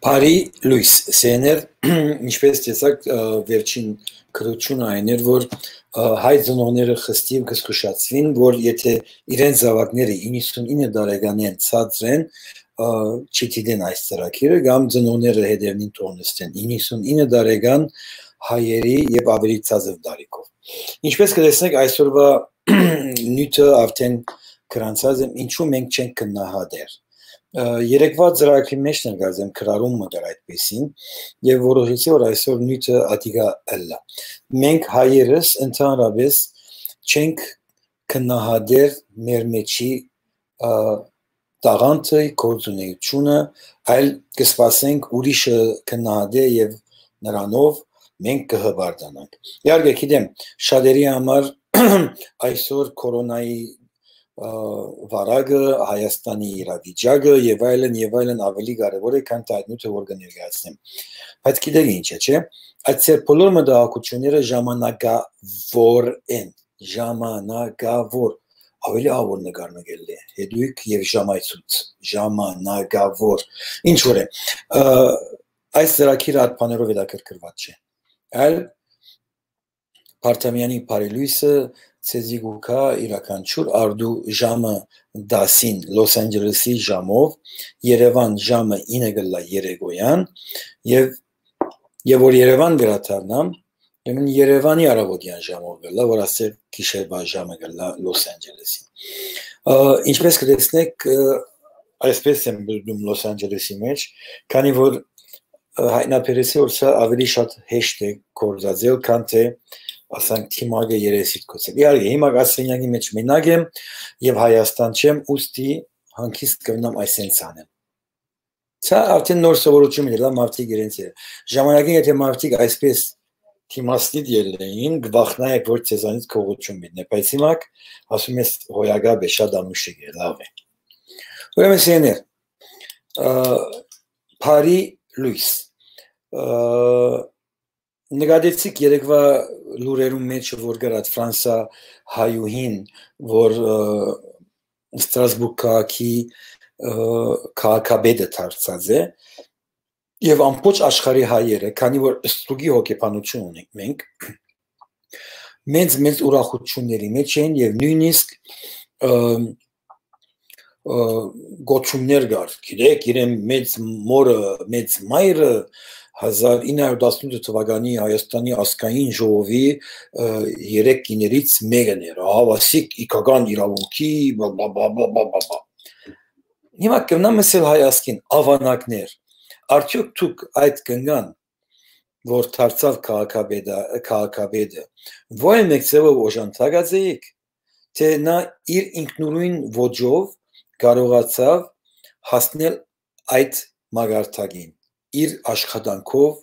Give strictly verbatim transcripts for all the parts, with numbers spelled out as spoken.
Բարի լոյս, սեներ, ինչպես տեսակ, ը, վերջին գրությունը այն էր, որ, ը, հայ ծնողները խստիվ կը զգուշացուին, որ եթե իրենց զաւակները իննսունինը տարեկանէն ցածր են, ը, չդիտեն այս ծրագիրը, կամ ծնողները հետերնին թողնստեն իննսունինը տարեկան հայերի եւ ավելի ցածր տարիքով։ Ինչպես կտեսնեք, այսօրվա նիւթը արդեն գրանցած եմ, ինչու մենք չենք գնահատեր։ Ը, երեկվա ծրագրի մեջ ներկայացեմ գրառում մը կար այդպեսին, եւ որոշեցի, որ այսօր նիւթը ատիկա ըլլայ։ Մենք հայերս ընդհանրապես չենք գնահատեր մեր մեջի, ը, տաղանդը, գործունեությունը, այլ կսպասենք ուրիշը գնահատէ եւ նրանով մենք կհպարտանանք։ Իհարկե, գիտեմ, շատերի համար այսօր կորոնայի, ը, վարակը, Հայաստանի իրավիճակը եւ այլն, եւ այլն ավելի կարեւոր է, քան թե այդ նիւթը, որ կը ներկայացնեմ։ Բայց գիտեք ինչ է, չէ՞։ Այդ ձեր բոլոր մտահոգությունները ժամանակավոր են, ժամանակավոր, ավելի ահաւոր նկար մը կ'ելլէ, հետոյք եւ ժամայցուց, ժամանակավոր, ինչ որ է, ը, այս ծրագիրը այդ բաներով հետաքրքրված չէ, այլ Պարտամեանի բարի լոյսը ձեզի կու գայ իրականչուր արդու ժամը տասին Լոս Անջելեսի ժամով, Երեւան ժամը ինը կ'ըլլայ երեկոյան, եւ, եւ որ Երեւան վերադառնամ, ուրեմն Երեւանի առավոտեան ժամով կ'ըլլայ, որ ասել գիշերվա ժամը կ'ըլլայ Լոս Անջելեսի։ Ը, ինչպես կտեսնեք, ը, այսպես եմ բերդում Լոս Անջելեսի մեջ, քանի որ, ը, հայտնաբերեցի, որ սա ավելի շատ հեշտ է գործածել, քան թե, ասենք, թիմակը երեսիդ գուցե։ Իհարկե, հիմա այս սենյակի մեջ մենակ եմ եւ Հայաստան չեմ, ուստի հանգիստ կ'ունենամ այսենց անեմ։ Սա արդեն նոր սովորություն մը, լավ մարդիկ իրենց է։ Ժամանակին եթե մարդիկ այսպես թիմասնիտ ելլեին, կվախնայեք, որ ձեզանից գողություն մտնէ, բայց հիմա, ասում ես, հոյակապ է, շատ անուշիկ է, լավ է։ Ուրեմն, սեներ, ը, բարի լոյս։ Ը, նկատեցիք երեկվա լուրերուն մեջ, որ կար այդ Ֆրանսա հայուհին, որ, ը, Ստրասբուրգ քաղաքի, ը, քաղաքապետը դարձած է, եւ ամբողջ աշխարհի հայերը, քանի որ ստրուկի հոգեբանություն ունենք մենք, մեծ, մեծ ուրախությունների մեջ են եւ նոյնիսկ, ը, ը, գոչումներ կար։ Գիտեք, իրեն մեծ մորը, մեծ մայրը հազար ինը հարյուր տասնութ թվականի Հայաստանի ազգային ժողովի, ը, երեք կիներից մեկն էր, ահաւասիկ իգական իրաւունքի, բա, բա, բա, բա, բա, բա, բա։ Հիմա կրնամ ասել հայ ազգին, ավանակներ, արդյոք դուք այդ կնկան, որ դարձաւ քաղաքապետը, քաղաքապետը, ո-, այն մեկ ձևով օժանդակած էիք, թե նա իր ինքնուրույն ոճով կարողացաւ հասնել այդ մակարդակին, իր աշխատանքով,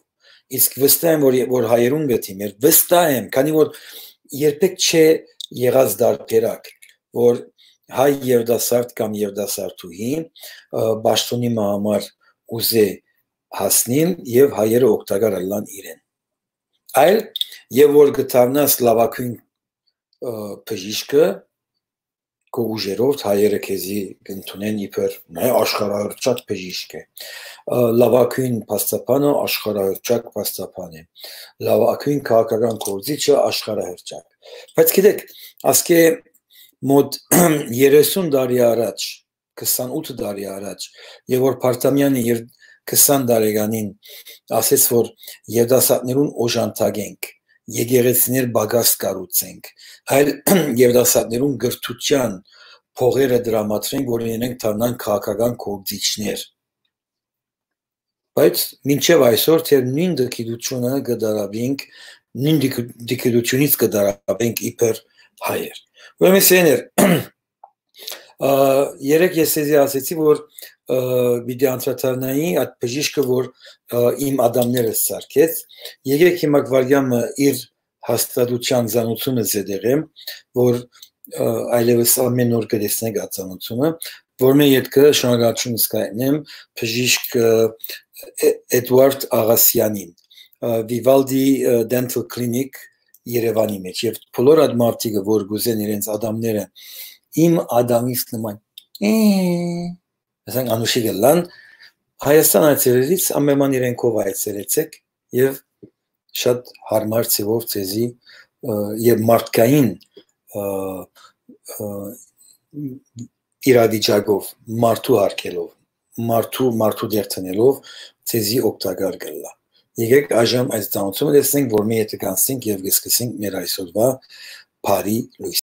իսկ վստահ եմ, որ, որ հայերուն գտի մեր, վստահ եմ, քանի որ երբեք չէ եղած դարբերակ, որ հայ երիտասարդ կամ երիտասարդուհի, ը, պաշտոնի մը համար ուզէ հասնիլ եւ հայերը օգտակար ըլլան իրեն։ Այլ, եւ որ կդառնաս լավագույն, ը, բժիշկը, քո ուժերով հայերը քեզի կ'ընդունեն իբր, նայ, աշխարհահռչակ բժիշկ է, ը, լավագույն փաստաբանը աշխարհահռչակ փաստաբան է, լավագույն քաղաքական գործիչը աշխարհահռչակ։ Բայց գիտեք, ասկէ մոտ երեսուն տարի առաջ, քսանութ տարի առաջ, եւ որ Պարտամեանը իր քսան տարեկանին ասեց, որ երիտասարդներուն օժանդակենք, եկեղեցիներ պակաս կառուցենք, այլ երիտասարդներուն կրթության փողերը դրամատրենք, որ իրենք դառնան քաղաքական գործիչներ։ Բայց մինչեւ այսօր թեր նոյն դգիտությունը կը դարաբենք, նոյն դիգ-, դգիտությունից կը դարաբենք իբր հայեր։ Ուրեմն, սեներ, ը, երեկ ես ձեզի ասեցի, որ, ը, պիտի անդրադառնայի այդ բժիշկը, որ, ը, իմ ադամներս սարքեց։ Եկեք հիմա վարյանը իր հաստատութեան զանուցումը զետեղեմ, որ, ը, այլեւս ամեն օր կը տեսնենք այդ զանուցումը, որ մէ ետքը շնորհակալություն զգայնեմ բժիշկ, ը, Է-, Էդուարդ Աղասյանին, ը, Vivaldi, ը, Dental Clinic Երևանի մեջ, եւ բոլոր այդ մարդիկը, որ կուզեն իրենց ադամները իմ ադամիս նման, ը, ասենք, անուշիկ ըլլան, Հայաստան այցելելիս ամէնման իրենքով այցելեցէք եւ շատ յարմար ձեւով ձեզի, ը, եւ մարդկային, ը, ը, իրավիճակով, մարդու հարգելով, մարդու, մարդու դեր դնելով ձեզի օգտակար կ'ըլլայ։ Եկեք այժմ այս ծանուցումը տեսնենք, որ մի ետք անցնենք եւ կ'սկսենք մեր այսօրվա բարի լոյս։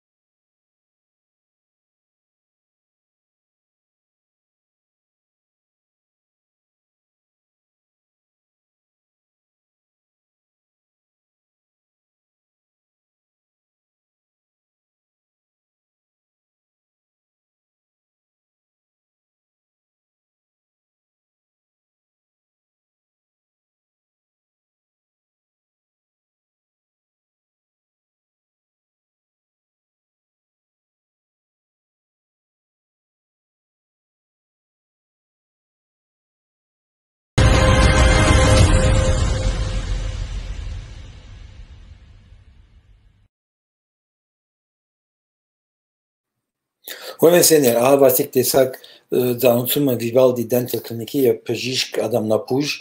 Ուրեմն, սէներ, ահա, Վասիկ, տեսաք, ը, ծանուցումը Վիվալդի Dental Clinic-ի եւ բժիշկ Ադամնապուժ,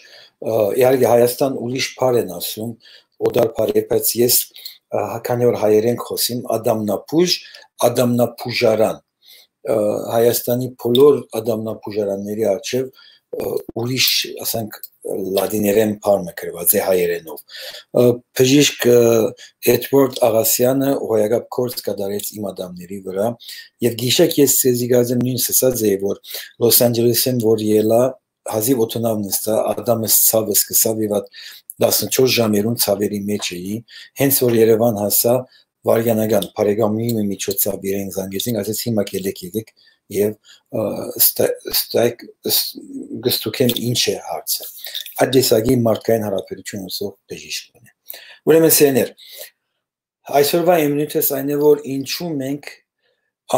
ը, իհարկե, Հայաստան ուրիշ բառ են ասում, օտար բառ է, բայց ես, ը, քանի որ հայերեն կ'խօսեմ, Ադամնապուժ, Ադամնապուժարան, ը, Հայաստանի բոլոր Ադամնապուժարանների առջեւ, ը, ուրիշ, ասենք, լատիներեն բառ մը գրուած է հայերէնով։ Ը, բժիշկ, ը, Էդուարդ Աղասյանը հոյակապ գործ կատարեց իմ ադամների վրայ, եւ գիշեր ես ձեզի գազեմ նոյնս ըսած էի, որ Լոս Անջելեսէն որ ելայ, հազիւ օդանաւ նստայ, ադամս ցաւ սկսաւ եւ ատ տասնչորս ժամերուն ցաւերի մէջ էի, հենց որ Երեւան հասայ, վարդանական բարեկամի մը միջոցաւ իրեն զանգեցին, ասեց, «Հիմա կ'ելեք, եկեք եւ, ը, ստա-, ստայք, ս-, կ'ստուգեմ ինչ է հարցը»։ Այդ տեսակի մարդկային յարաբերութիւն ունեցող բժիշկ մը է։ Ուրեմն, սէներ, այսօրվա իմ նիւթս այն է, որ ինչու մենք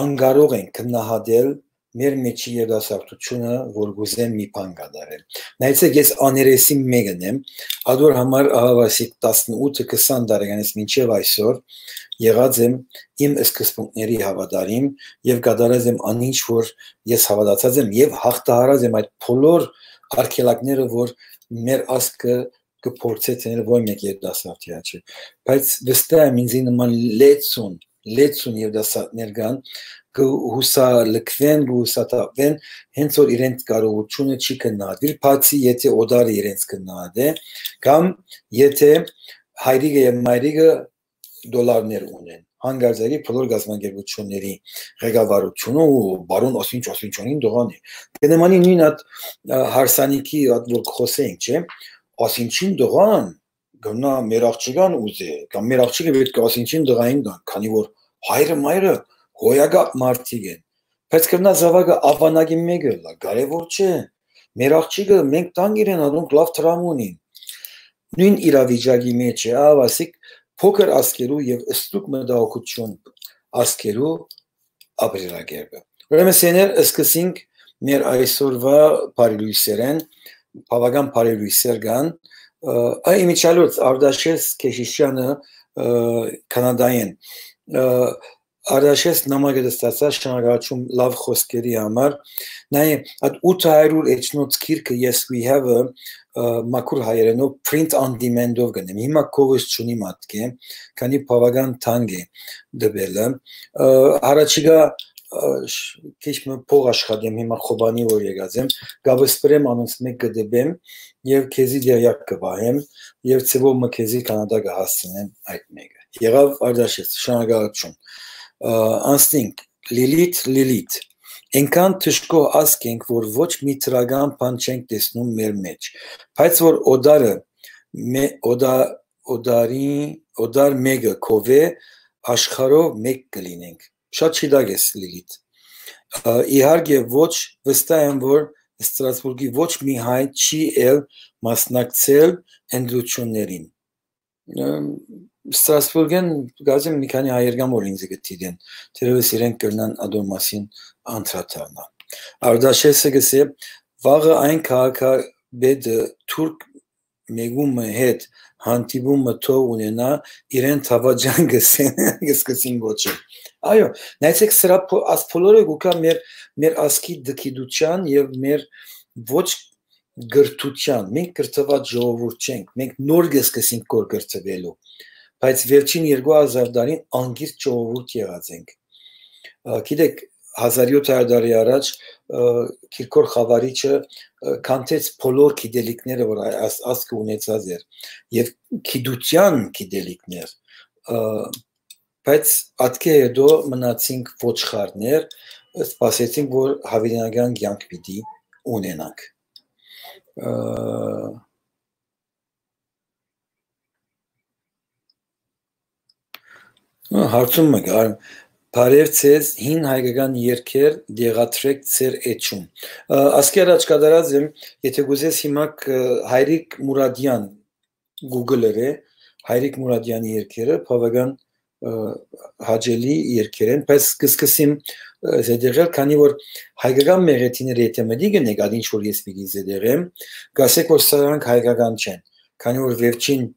անկարող ենք գնահատել մեր մեջի երիտասարդութիւնը, որ կ'ուզեն մի բան կատարել։ Նայեցեք, ես աներեսին մէկն եմ, ադոր համար, ահա, Վասիկ, տասնութ քսան տարեկանից մինչեւ այսօր եղած եմ իմ սկզբունքների հաւատարիմ եւ կատարած եմ անինչ, որ ես հաւատացած եմ, եւ յաղթահարած եմ այդ բոլոր արգելակները, որ մեր ազգը կը փորձէ դնել ոչ մէկ երիտասարդի հաճը։ Բայց վստահ եմ, ինձի նման լեցուն, լեցուն երիտասարդներ կան, կը հուսալքուեն, կը հուսաթափուեն, հենց որ իրենց կարողութիւնը չի քննադիր, բացի եթե օտարը իրենց քննադէ, կամ եթե հայրիկը եւ մայրիկը դոլարներ ունեն։ Հանկարծակի բոլոր գազམ-ակերպութիւնների ղեկավարութիւնը ու բարոն Ասինչ Ասինչանին տղան է։ Կը նմանի նոյն այդ, ը, հարսանիքի, այդ որ կ'խօսենք, չէ՞, Ասինչին տղան կրնայ մեր աղջկան ուզէ, կամ մեր աղջիկը պէտք է Ասինչին տղային տան, քանի որ հայրը, մայրը հոյակապ մարդիկ են։ Բայց կրնայ զաւակը աւանակի մէկը ըլլայ, կարեւոր չէ։ Մեր աղջիկը, մենք տանք իրեն, ադոնք լաւ դրամ ունին։ Նոյն իրավիճակի մէջ է, ահա, Վասիկ, փոքր ազգերու եւ ստուգ մտահոգութիւն ազգերու ապրելակերպը։ Ուրեմն, սէներ, սկսենք մեր այսօրվա բարի լոյսերէն, բաւական բարի լոյսեր կան, ը, այ իմիջալոց Արտաշես Քեշիշյանը, ը, Քանադայէն, ը, Արտաշես նամակը ստացա, շնորհակալություն լաւ խօսքերի համար։ Նայ, այդ ութ հարիւր էջնոց գիրքը Yes We Have-ը, ը, մաքուր հայերէնով print on demand-ով կ'ընեմ։ Հիմա քովս չունի մատկե, քանի բաւական թանկ է տուելը։ Ը, առաջիկա, ը, շ-, քիչ մը փող աշխատեմ, հիմա Խոբանի որ եկած եմ, կ'ավսպրեմ անոնց մէկ կը տպեմ եւ քեզի դերյակ կը պահեմ եւ ձեւով մը քեզի Քանադա կը հասցնեմ այդ մէկը։ Եղաւ, Արտաշես, շնորհակալություն։ Ը, անցնենք, Լիլիթ, Լիլիթ։ Այնքան դժգոհ ազգ ենք, որ ոչ մի դրական բան չենք տեսնում մեր մեջ, բայց որ օտարը, մե-, օտա-, օտարի, օտար մէկը քովէ, աշխարհով մէկ կը լինենք։ Շատ շիտակ ես, Լիլիթ։ Ը, իհարկե ոչ, վստահ եմ, որ Ստրասբուրգի ոչ մի հայ չի էլ մասնակցել ընտրութիւններին։ Ը, Ստրասբուրգէն գազեմ մի քանի հայեր կան, որ ինձ կը դիտեն, թերեւս իրենք կրնան ադոր մասին անդրադառնալ։ Արտաշեսը կ'ըսէ, վաղը այն քաղաքապետը թուրք մեկու մը հետ հանդիպումը թող ունենայ, իրեն դաւաճան կ'ըսեն, կ'սկսին գոչել։ Այո, նայեցեք, սրա փո-, աս բոլորը կուքայ մեր, մեր ազգի դքիդութեան եւ մեր ոչ կրթութեան, մենք կրթուած ժողովուրդ չենք, մենք նոր կը սկսենք կոր կրթուելու, բայց վերջին երկու հազար տարին անգիր ժողովուրդ եղած ենք։ Ա, գիտեք, հազար յոթ հարյուր տարի առաջ, ը, Կիրկոր խավարիչը, ը, քանդեց բոլոր գիտելիքները, որ ա-, աս-, ազգը ունեցած էր, եւ գիտութեան գիտելիքներ, ը, բայց ատկէ հետո մնացինք ոչխարներ, սպասեցինք, որ հավիտենական կեանք պիտի ունենանք։ Ը, ը, հարցում մը կար. «Բարև ձեզ, հին հայկական երգեր դեղադրեք ձեր էջում»։ Ը, ասկի առաջ կատարած եմ, եթե կուզես հիմա կ-, Հայրիկ Մուրադյան Google-ը, Հայրիկ Մուրադյանի երգերը, բաւական, ը, հաճելի երգեր են, բայց կսկսեմ, ը, զետեղել, քանի որ հայկական մեղեդիները եթե մտի գնեք, ադինչ որ ես պիտի զետեղեմ, կասեք, որ սրանք հայկական չեն, քանի որ վերջին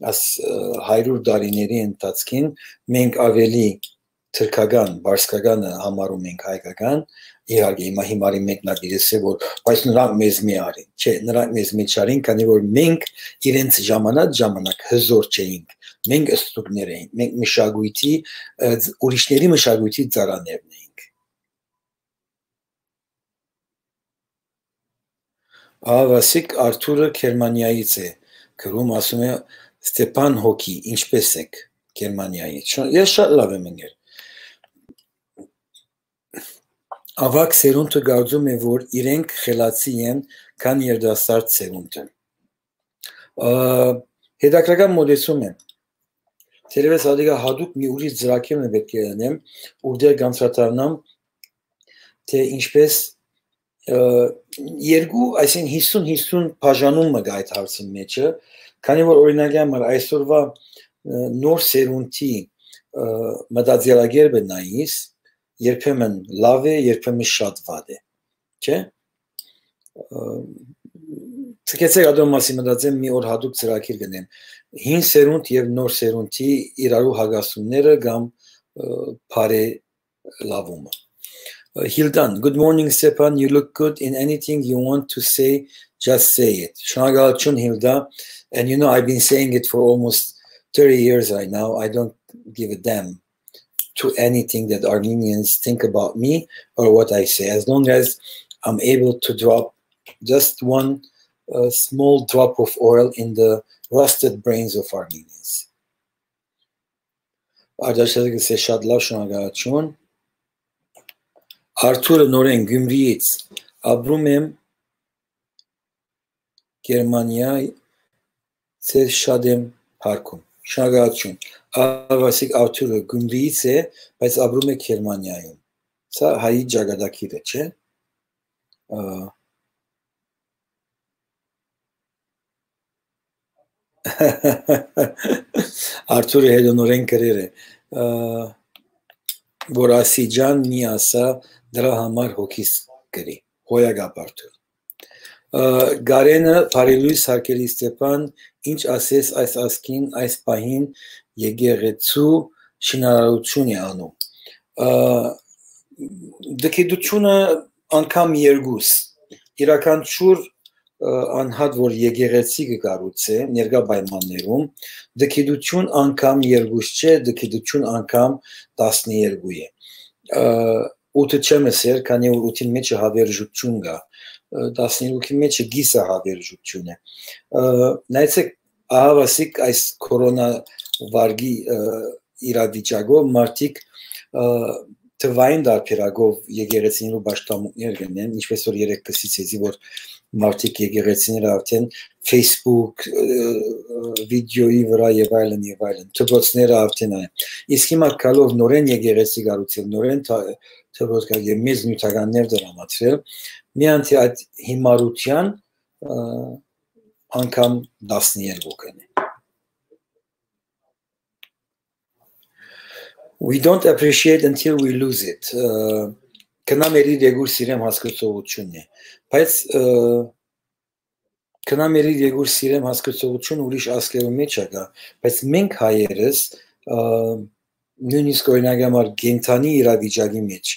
աս, ը, հարիւր տարիների ընթացքին մենք ավելի թրքական, բարսկականը համարում ենք հայկական, իհարկե, հիմա հիմարի մեկն ալ կ'ըսէ, որ բայց նրանք մեզ մի արին։ Չէ, նրանք մեզ մի չարին, քանի որ մենք իրենց ժամանակ, ժամանակ հզոր չէինք, մենք ստուկներ էինք, մենք մշակույթի, ը, ուրիշների մշակույթի ծառաներն էինք։ Ահա Վասիկ Արթուրը Գերմանիայից է գրում, ասում է. «Ստեփան Հոկի, ինչպե՞ս եք Գերմանիայից»։ Շա-, ես շատ լավ եմ ընկեր։ Ավագ սերունդը կարծում է, որ իրենք խելացի են, քան երիտասարդ սերունդը։ Ա, հետաքրական մոտեցում է։ Թերևս ատիկա հատուկ մի ուրիշ ծրագիր մը պէտք է ընեմ, ուր դեռ կանդրադառնամ, թէ ինչպես, ը, երկու, այսինքն՝ հիսուն հիսուն բաժանում մը կա այդ հարցի մեջը, քանի որ, օրինակի համար, այսօրվա, ը, նոր սերունդի, ը, մտածելակերպը նայիս, երբեմն լավ է, երբեմն շատ վատ է, չէ՞։ Ը, ցկեցեք ադոր մասին մտածեմ, մի օր հատուկ ծրագիր կնեմ։ Հին սերունդ եւ նոր սերունդի իրարու հակասումները կամ, ը, բարելավումը։ Ը, Hildan, good morning, Stepan. You look good in anything you want to say, just say it. Շնորհակալություն, Hilda. And you know, I've been saying it for almost thirty years right now. I don't give a damn to anything that Armenians think about me or what I say, as long as I'm able to drop just one, uh, small drop of oil in the rusted brains of Armenians. Արտաշատը կսե շատ լավ, շնորհակալություն։ Արթուրը նորեն Գյումրիից. «Ապրում եմ Գերմանիա, ձեզ շատ եմ փառքում»։ Շնորհակալություն։ Ահա Վասիկ Արթուրը Գյումրիից է, բայց ապրում է Գերմանիայում։ Սա հայի ճակատագիրը չէ։ Ա, Արթուրը հետոնորեն գրեր է, ա, որ ասի ջան մի ասա, դրա համար հոգիս գրի։ Հոյակապ Արթուր։ Ա, Գարենը, բարի լույս, հարգելի Ստեփան, ինչ ասես այս ազգին, այս պահին եկեղեցու շինարարություն է անում։ Ա, դգիտությունը անգամ երկուս, իրականչուր, ը, անհատ որ եկեղեցի կը կառուցէ ներկայ պայմաններում, դգիտություն անգամ երկուս չէ, դգիտություն անգամ տասներկու է։ Ը, ութը չեմ ըսեր, քանի որ ութի մեջը հավերժություն կա, ը, տասներկուքի մեջը կիսը հավերժություն է։ Ը, նայեցեք, ահա Վասիկ այս կորոնա վարգի, ը, իրավիճակով մարդիկ, ը, թվային դարբերակով եկեղեցիներու պաշտամունքներ կնեն, ինչպես որ երեկ կսկսեցի, որ մարդիկ եկեղեցիները արդեն Facebook, ը, ը, վիդեոյի վրա եւ այլն, եւ այլն, դպրոցները արդեն այն։ Իսկ հիմա գալով նորեն եկեղեցի կառուցել, նորեն թա-, դպրոց կա-, եւ մեծ նյութականներ դրամատրել, միայն թե այդ հիմարության, ը, անգամ տասներկու կնի։ We don't appreciate until we lose it. Ը, «Քնա մեր իր եկուր սիրեմ» հասկացողությունն է։ Բայց, ը, «Քնա մեր իր եկուր սիրեմ» հասկացողությունը ուրիշ ազգերու մեջ ա կա, բայց մենք հայերս, ը, նոյնիսկ օրինակ համար կենդանի իրավիճակի մեջ,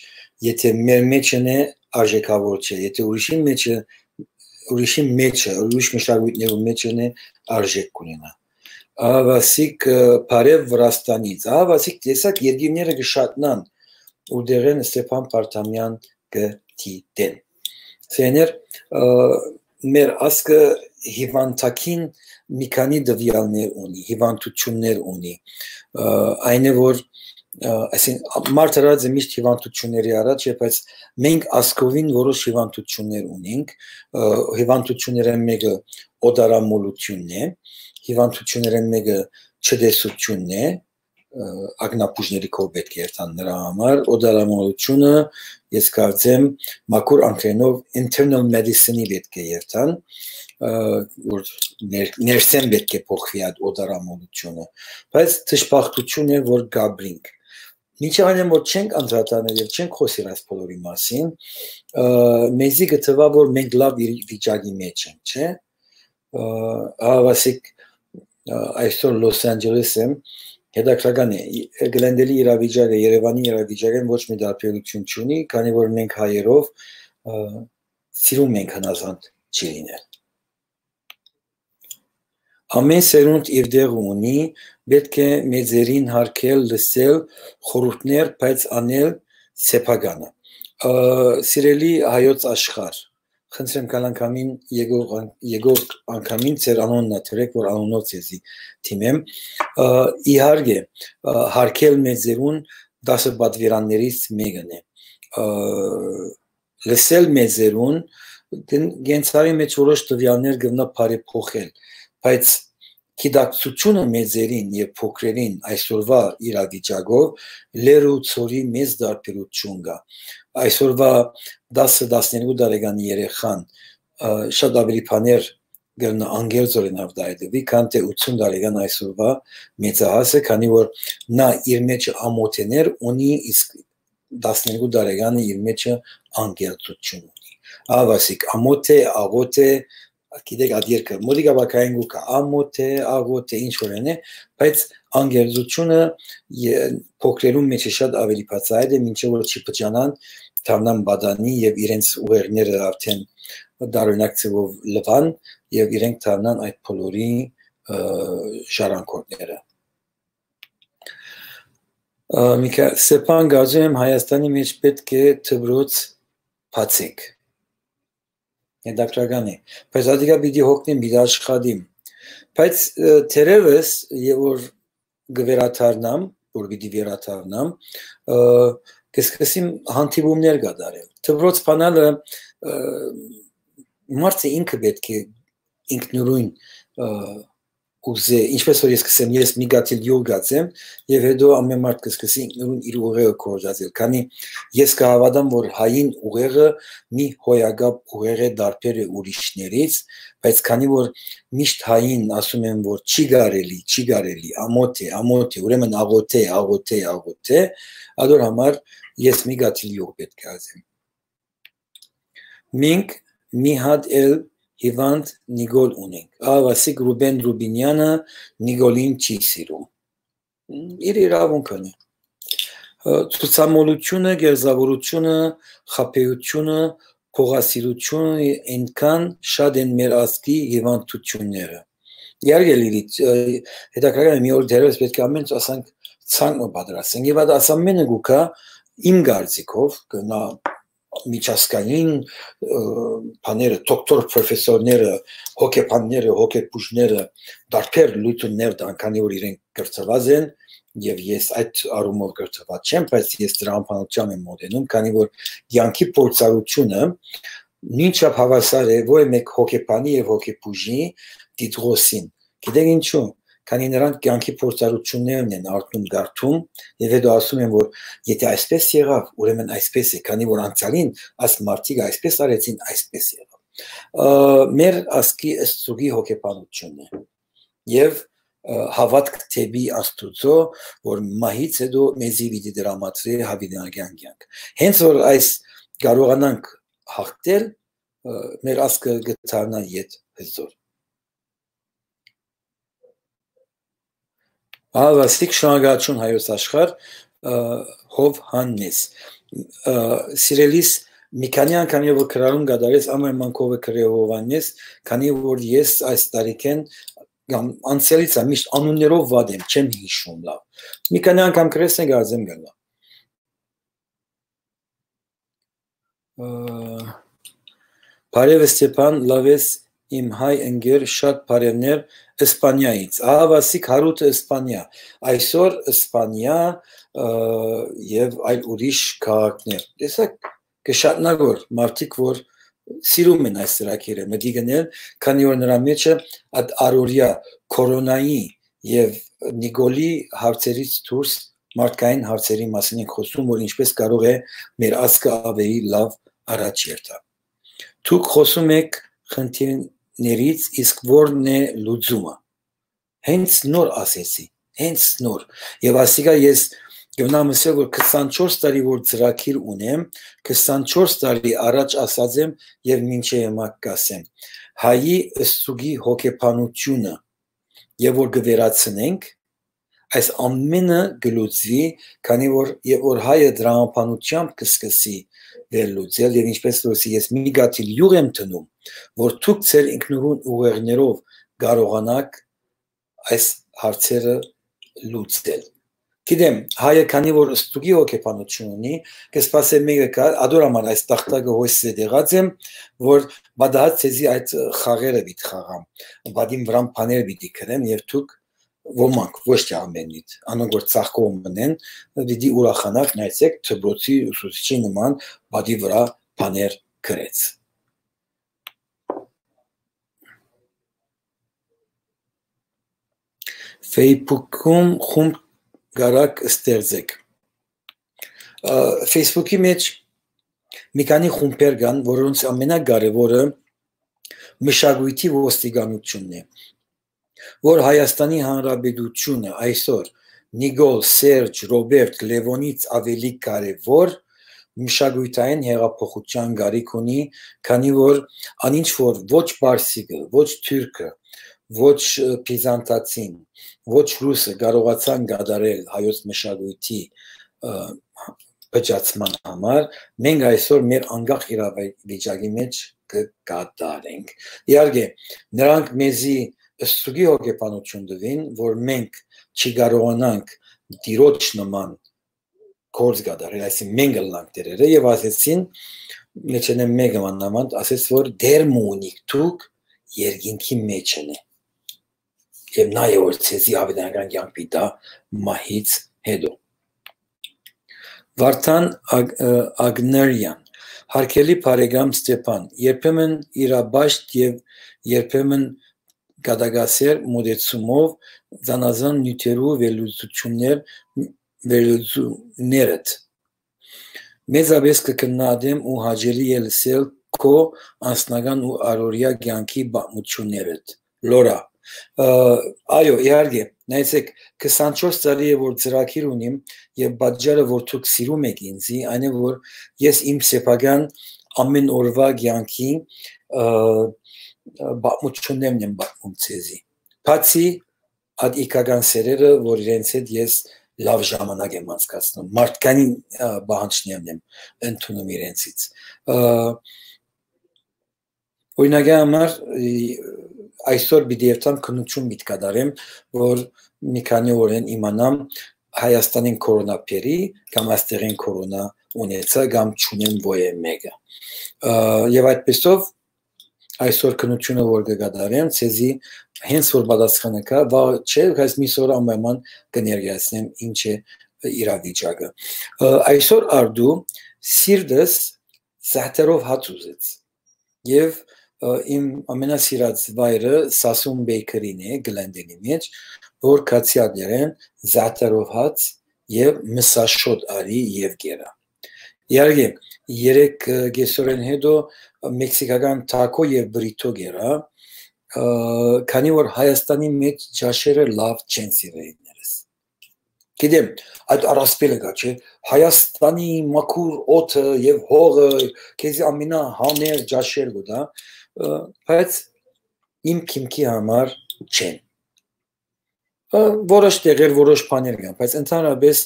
եթե մեր մեջն է, արժեքավոր չէ, եթե ուրիշին մեջը, ուրիշի մէջը, ուրիշ մշակոյթներու մէջը նե արժէք կունենայ։ Ահավասիկ, ը, բարեւ Վրաստանից։ Ահավասիկ տեսակ երկիրները կը շատնան, ուր դեղեն Ստեփան Պարտամեան կը դիտեն։ Սեներ, ը, մեր ազգը հիվանդակին մի քանի տվեալներ ունի, հիվանդություններ ունի, ը, այն է, որ, ը, այսին, մարդ արած է միշտ հիվանդությունների առաջ, բայց մենք ազգովին որոշ հիվանդություններ ունենք, ը, հիվանդություններէն մէկը օտարամոլութիւնն է, հիվանդություններէն մէկը չտեսութիւնն է, ը, ակնապուժների կով պէտք է երթան նրա համար, օտարամոլութիւնը, ես կարծեմ, մաքուր անգլերենով internal medicine-ի պէտք է երթան, ը, որ ներ-, ներսէն պէտք է փոխուի այդ օտարամոլութիւնը, բայց դժբախտութիւն է, որ գաբրինք։ Մինչեւ այն որ չենք անդրադառնալ եւ չենք խօսիր այս բոլորի մասին, ը, մեզի կը թվայ, որ մենք լաւ իր վիճակի մեջ ենք, չէ՞։ Ը, ահավասիկ, ը, այսօր Լոս Անջելես եմ, հետաքրական է, Գլենդելի իրավիճակը, Երևանի իրավիճակը ոչ մի տարբերություն չունի, քանի որ մենք հայերով, ը, սիրում ենք հնազանդ չի լինել։ Ամեն սերունդ իր տեղը ունի, պէտք է մեծերին հարգել, լսել խորհուրդներ, բայց անել սեփականը։ Ը, սիրելի հայոց աշխարհ, խնդրեմ կալ անգամին եկող ան-, եկող անգամին ձեր անոնն ա դրեք, որ անոնով ձեզի դիմեմ։ Ը, իհարկե, ը, հարգել մեծերուն դասը պատվիրաններից մեկն է։ Ը, լսել մեծերուն, կն-, կենցաղի մեջ որոշ տվեալներ կրնայ բարեփոխել, բայց գիտակցությունը մեծերին եւ փոքրերին այսօրվա իրավիճակով լեռ ու ցորի մեծ տարբերություն կա։ Այսօրվա դասը, տասներկու տարեկան երեխան, ը, շատ ավելի բաներ կրնայ անգերձորեն արտահայտուի, քան թէ ութսուն տարեկան այսօրվա մեծահասը, քանի որ նա իր մեջ ամոթեներ ունի, իսկ տասներկու տարեկանը իր մեջը անգերձութիւն ունի։ Ահավասիկ ամոթ է, աղօթ է, գիտեք, այդ երկը մօտիկ ապագային կու գայ, ամոթ է, աղօթ է, ինչ որ է, բայց անգերձութիւնը ե-, փոքրերուն մեջ է շատ ավելի բացայայտ է, մինչեւ որ չի փճանան, դառնան պատանի եւ իրենց ուղերձները արդեն տարօրինակ ձեւով լուան եւ իրենք դառնան այդ բոլորի, ը, ժառանգորդները։ Ը, Միքա-, Ստեփան, կարծում եմ Հայաստանի մեջ պէտք է դպրոց բացեք։ Հետաքրական է։ Բայց ադիկա պիտի հոգնեմ, պիտի աշխատիմ։ Բայց, ը, թերևս, եւ որ կը վերադառնամ, որ պիտի վերադառնամ, ը, կսկսեմ հանդիպումներ կատարել։ Դպրոց բանալը, ը, մարդը ինքը պէտք է ինքնուրույն, ը, ուզե, ինչպես որ ես կսեմ, ես մի գաթիլ յուղ գած եմ, եւ հետո ամեն մարդ կսկսի ինքնուրույն իր ուղեղը գործածել, քանի ես կհաւատամ, որ հային ուղեղը մի հոյակապ ուղեղ է, տարբեր է ուրիշներից, բայց քանի որ միշտ հային ասում են, որ չի կարելի, չի կարելի, ամոթ է, ամոթ է, ուրեմն աղոթ է, աղոթ է, աղոթ է, ադոր համար ես մի գաթիլ յուղ պէտք է ասեմ։ Մենք մի հատ էլ հիվանդ Նիկոլ ունենք։ Ահավասիկ Ռուբեն Ռուբինյանը Նիկոլին չի սիրում։ Իր իրաւունքն է։ Ը, ցուցամոլութիւնը, գերզաւորութիւնը, խաբեութիւնը, փողասիրութիւնը, այնքան շատ են մեր ազգի հիվանդութիւնները։ Իհարկե, Լիլիթ, ը, հետաքրքրական է, մի օր դեռևս պէտք է ամեն ինչ ասանք, ցանկ մը պատրաստենք։ Եւ այդ ամենը գուկա իմ կարծիքով, կնա միջազգային, ը, բաները, դոկտոր պրոֆեսորները, հոգեբանները, հոգեբուժները, տարբեր լուծումներ տան, քանի որ իրենք կրթված են, եւ ես այդ առումով կրթված չեմ, բայց ես դրա անփանությամբ եմ մոտենում, քանի որ կյանքի փորձառությունը նույնչափ հավասար է ոչ մեկ հոգեբանի եւ հոգեբուժի դիտողոսին։ Գիտեք ինչու՞, քանի նրանք կյանքի փորձառություններն են արտում, գարթում, եւ հետո ասում են, որ եթե այսպես եղավ, ուրեմն այսպես է, քանի որ անցյալին այս մարդիկ այսպես արեցին, այսպես եղավ։ Ը, մեր ազգի ստուգի հոգեբանությունն է։ Եւ, ը, հաւատք դէպի Աստուծոյ, որ մահից հետո մեզի պիտի դրամատրի յաւիտենական կյանք։ Հենց որ այս կարողանանք հաղթել, ը, մեր ազգը կդառնայ յետ հզոր։ Ահա, Վասիկ, շնորհակալություն հայոց աշխարհ, ը, Հովհաննես։ Ը, սիրելիս, Մի քանի անգամ եւ որ քրարում կատարես, ամեն մանկովը կրեհովանես, քանի որ ես այս տարիքէն կամ անցյալից ա, միշտ անուններով վատ եմ, չեմ հիշում լավ։ Մի քանի անգամ կրես, նե կարծեմ գնա։ Ը, Բարև Ստեփան, լավ ես, իմ հայ ընկեր, շատ բարևներ Իսպանիայից։ Ահա Վասիկ Հարութը Իսպանիա, այսօր Իսպանիա, ը, եւ այլ ուրիշ քաղաքներ։ Տեսա՞ք, կը շատնայ որ մարդիկ որ սիրում են այս ծրագիրը մտի գնել, քանի որ նրա մեջը այդ առօրյա կորոնայի եւ Նիկոլի հարցերից դուրս մարդկային հարցերի մասին ենք խոսում, որ ինչպես կարող է մեր ազգը ավելի լավ առաջ երթա։ Դուք խոսում եք խնդիրներից, իսկ ո՞րն է լուծումը։ Հենց նոր ասեցի, հենց նոր։ Եւ ասիկա ես կնամ ասել, որ քսանչորս տարի որ ծրագիր ունեմ, քսանչորս տարի առաջ ասած եմ եւ մինչեւ հիմա կասեմ։ Հայի ստուգի հոգեբանությունը, եւ որ կը վերացնենք, այս ամենը կը լուծուի, քանի որ, եւ որ հայը դրամաբանությամբ կը սկսի վերլուծել, եւ ինչպես որ ես մի գաթիլ յուղ եմ դնում, որ դուք ձեր ինքնուրույն ուղեղներով կարողանաք այս հարցերը լուծել։ Գիտեմ, հայը քանի որ ստուգի հոգեբանություն ունի, կը սպասէ մեկը գա, ադոր համար այս տախտակը հոյս զետեղած եմ, որ պատահած ձեզի այդ խաղերը պիտի խաղամ, պատին վրան բաներ պիտի գրեմ, եւ դուք ոմանք, ոչ թե ամենիդ, անոնք որ ծաղկող մնեն, պիտի ուրախանաք, նայեցեք, դպրոցի ուսուցիչի նման պատի վրա բաներ գրեց։ Facebook-ում խումբ կարաք ստեղծեք։ Ա, Facebook-ի մեջ մի քանի խումբեր կան, որոնց ամենակարևորը մշակույթի ոստիկանությունն է, որ Հայաստանի Հանրապետությունը այսօր Նիկոլ, Սերժ, Ռոբերտ, Լևոնից ավելի կարևոր մշակութային հեղափոխության կարիք ունի, քանի որ անինչ որ ոչ պարսիկը, ոչ թուրքը, ոչ, ը, բիզանտացին, ոչ ռուսը կարողացան կատարել հայոց մշակույթի, ը, փճացման համար, մենք այսօր մեր անկախ իրավիճակի մեջ կը կատարենք։ Իհարկե, նրանք մեզի ստուգի հոգեբանություն տուին, որ մենք չի կարողանանք տիրոջ նման գործ կատարել, այսինքն մենք ըլլանք տերերը, եւ ասեցին, մեջենէ մեկը մանաւանդ ասեց, որ դեր մը ունիք դուք երկինքի մեջ են է։ Եւ նա է, որ ցեզի ավետարանական կյանք պիտի տայ մահից հետո։ Վարդան Ագ-, ը, Ագներյան, հարգելի բարեկամ Ստեփան, երբեմն իրաբաշտ եւ երբեմն կատակասեր մոտեցումով զանազան նիւթերու վերլուծություններ, վերլուծումներդ։ Մեծապէս կը քննադեմ ու հաճելի է լսել քո անձնական ու առօրյա կյանքի պատմություններդ։ Լորա, ը, այո, իհարկե, նայեցեք, քսանչորս տարի է, որ ծրագիր ունիմ, եւ պատճառը, որ դուք սիրում եք ինձի, այն է, որ ես իմ սեփական ամեն օրվա կյանքի, ը, ը, պատմություններն եմ պատմում ձեզի։ Բացի այդ իգական սերերը, որ իրենց հետ ես լավ ժամանակ եմ անցկացնում, մարդկային, ը, պահանջներն եմ ընդունում իրենցից։ Ը, օրինակի համար, ի, այսօր պիտի երթամ քննություն պիտի կատարեմ, որ մի քանի օրեն իմանամ Հայաստանին կորոնա բերի կամ այստեղին կորոնա ունեցա կամ չունեմ ոյե մեկը։ Ը, եւ այդպեսով այսօր քննությունը որ կը կատարեմ, ցեզի հենց որ պատասխանը կա, վաղ չէ, բայց միս օրը անպայման կը ներկայացնեմ ինչ է իրավիճակը։ Ը, այսօր արդու սիրտս զահթերով հաց ուզեց։ Եւ, ը, իմ ամենասիրած վայրը Սասուն Bakery-ն է, Գլենդենի մեջ, որ քացի ատներեն զահթերով հաց եւ մսաշոտ արի եւ կերա։ Իհարկե, երեք, ը, կեսօրէն հետո մեքսիքական թաքո եւ բրիթո կերա, ը, քանի որ Հայաստանի մեջ ճաշերը լավ չեն սիրելիներս։ Գիտեմ, այդ առասպելը կա, չէ՞, Հայաստանի մաքուր օդը եւ հողը քեզի ամենահաներ ճաշեր կու տայ, ը, բայց իմ քիմքի համար չեն։ Ը, որոշ տեղեր, որոշ բաներ կան, բայց ընդհանրապես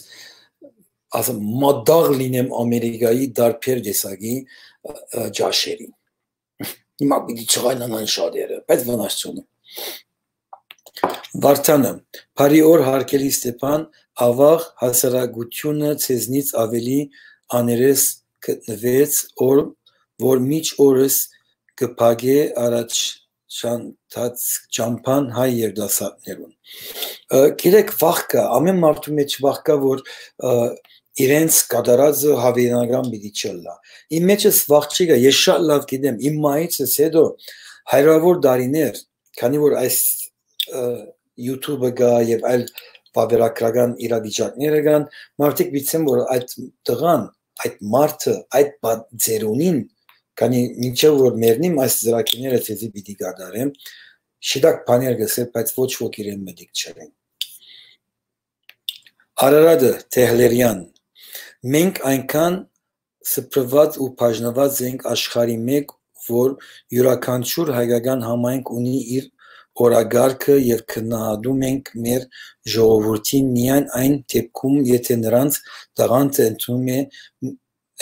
ասեմ, մատաղ լինեմ Ամերիկայի տարբեր տեսակի, ը, ը, ճաշերին։ Հիմա պիտի չղայնանան շատերը, բայց վնաս չունի։ Վարդանը, բարի օր, հարգելի Ստեփան, ավաղ հասարակությունը ձեզնից ավելի աներես գտնվեց, օր, որ մինչ օրս կը փակէ առաջ շանթած ճամբան հայ երիտասարդներուն։ Ը, գիտեք, վախ կայ, ամեն մարդու մէջ վախ կայ, որ, ը, իրենց կատարածը հավերենական պիտի չըլլայ։ Իմ մէջս վախ չի գայ, ես շատ լաւ գիտեմ, իմ մայիցս հետո հարիւրաւոր տարիներ, քանի որ այս, ը, YouTube-ը կայ եւ այլ վաւերագրական իրավիճակները կան, մարդիկ պիտի ասեն, որ այդ տղան, այդ մարդը, այդ բա-, ծերունին, քանի մինչեւ որ մեռնիմ, այս ծրագիրները ձեզի պիտի կատարեմ, շիտակ բաներ կ'ըսէ, բայց ոչ ոք իրեն մտիկ չըլլայ։ Արարատը, Թեհլերեան։ Մենք այնքան սփռուած ու բաժնուած ենք աշխարհի մէջ, որ իւրաքանչիւր հայկական համայնք ունի իր օրակարգը եւ գնահատում ենք մեր ժողովուրդին միայն այն դեպքում, եթե նրանց տաղանդը ընդունում է,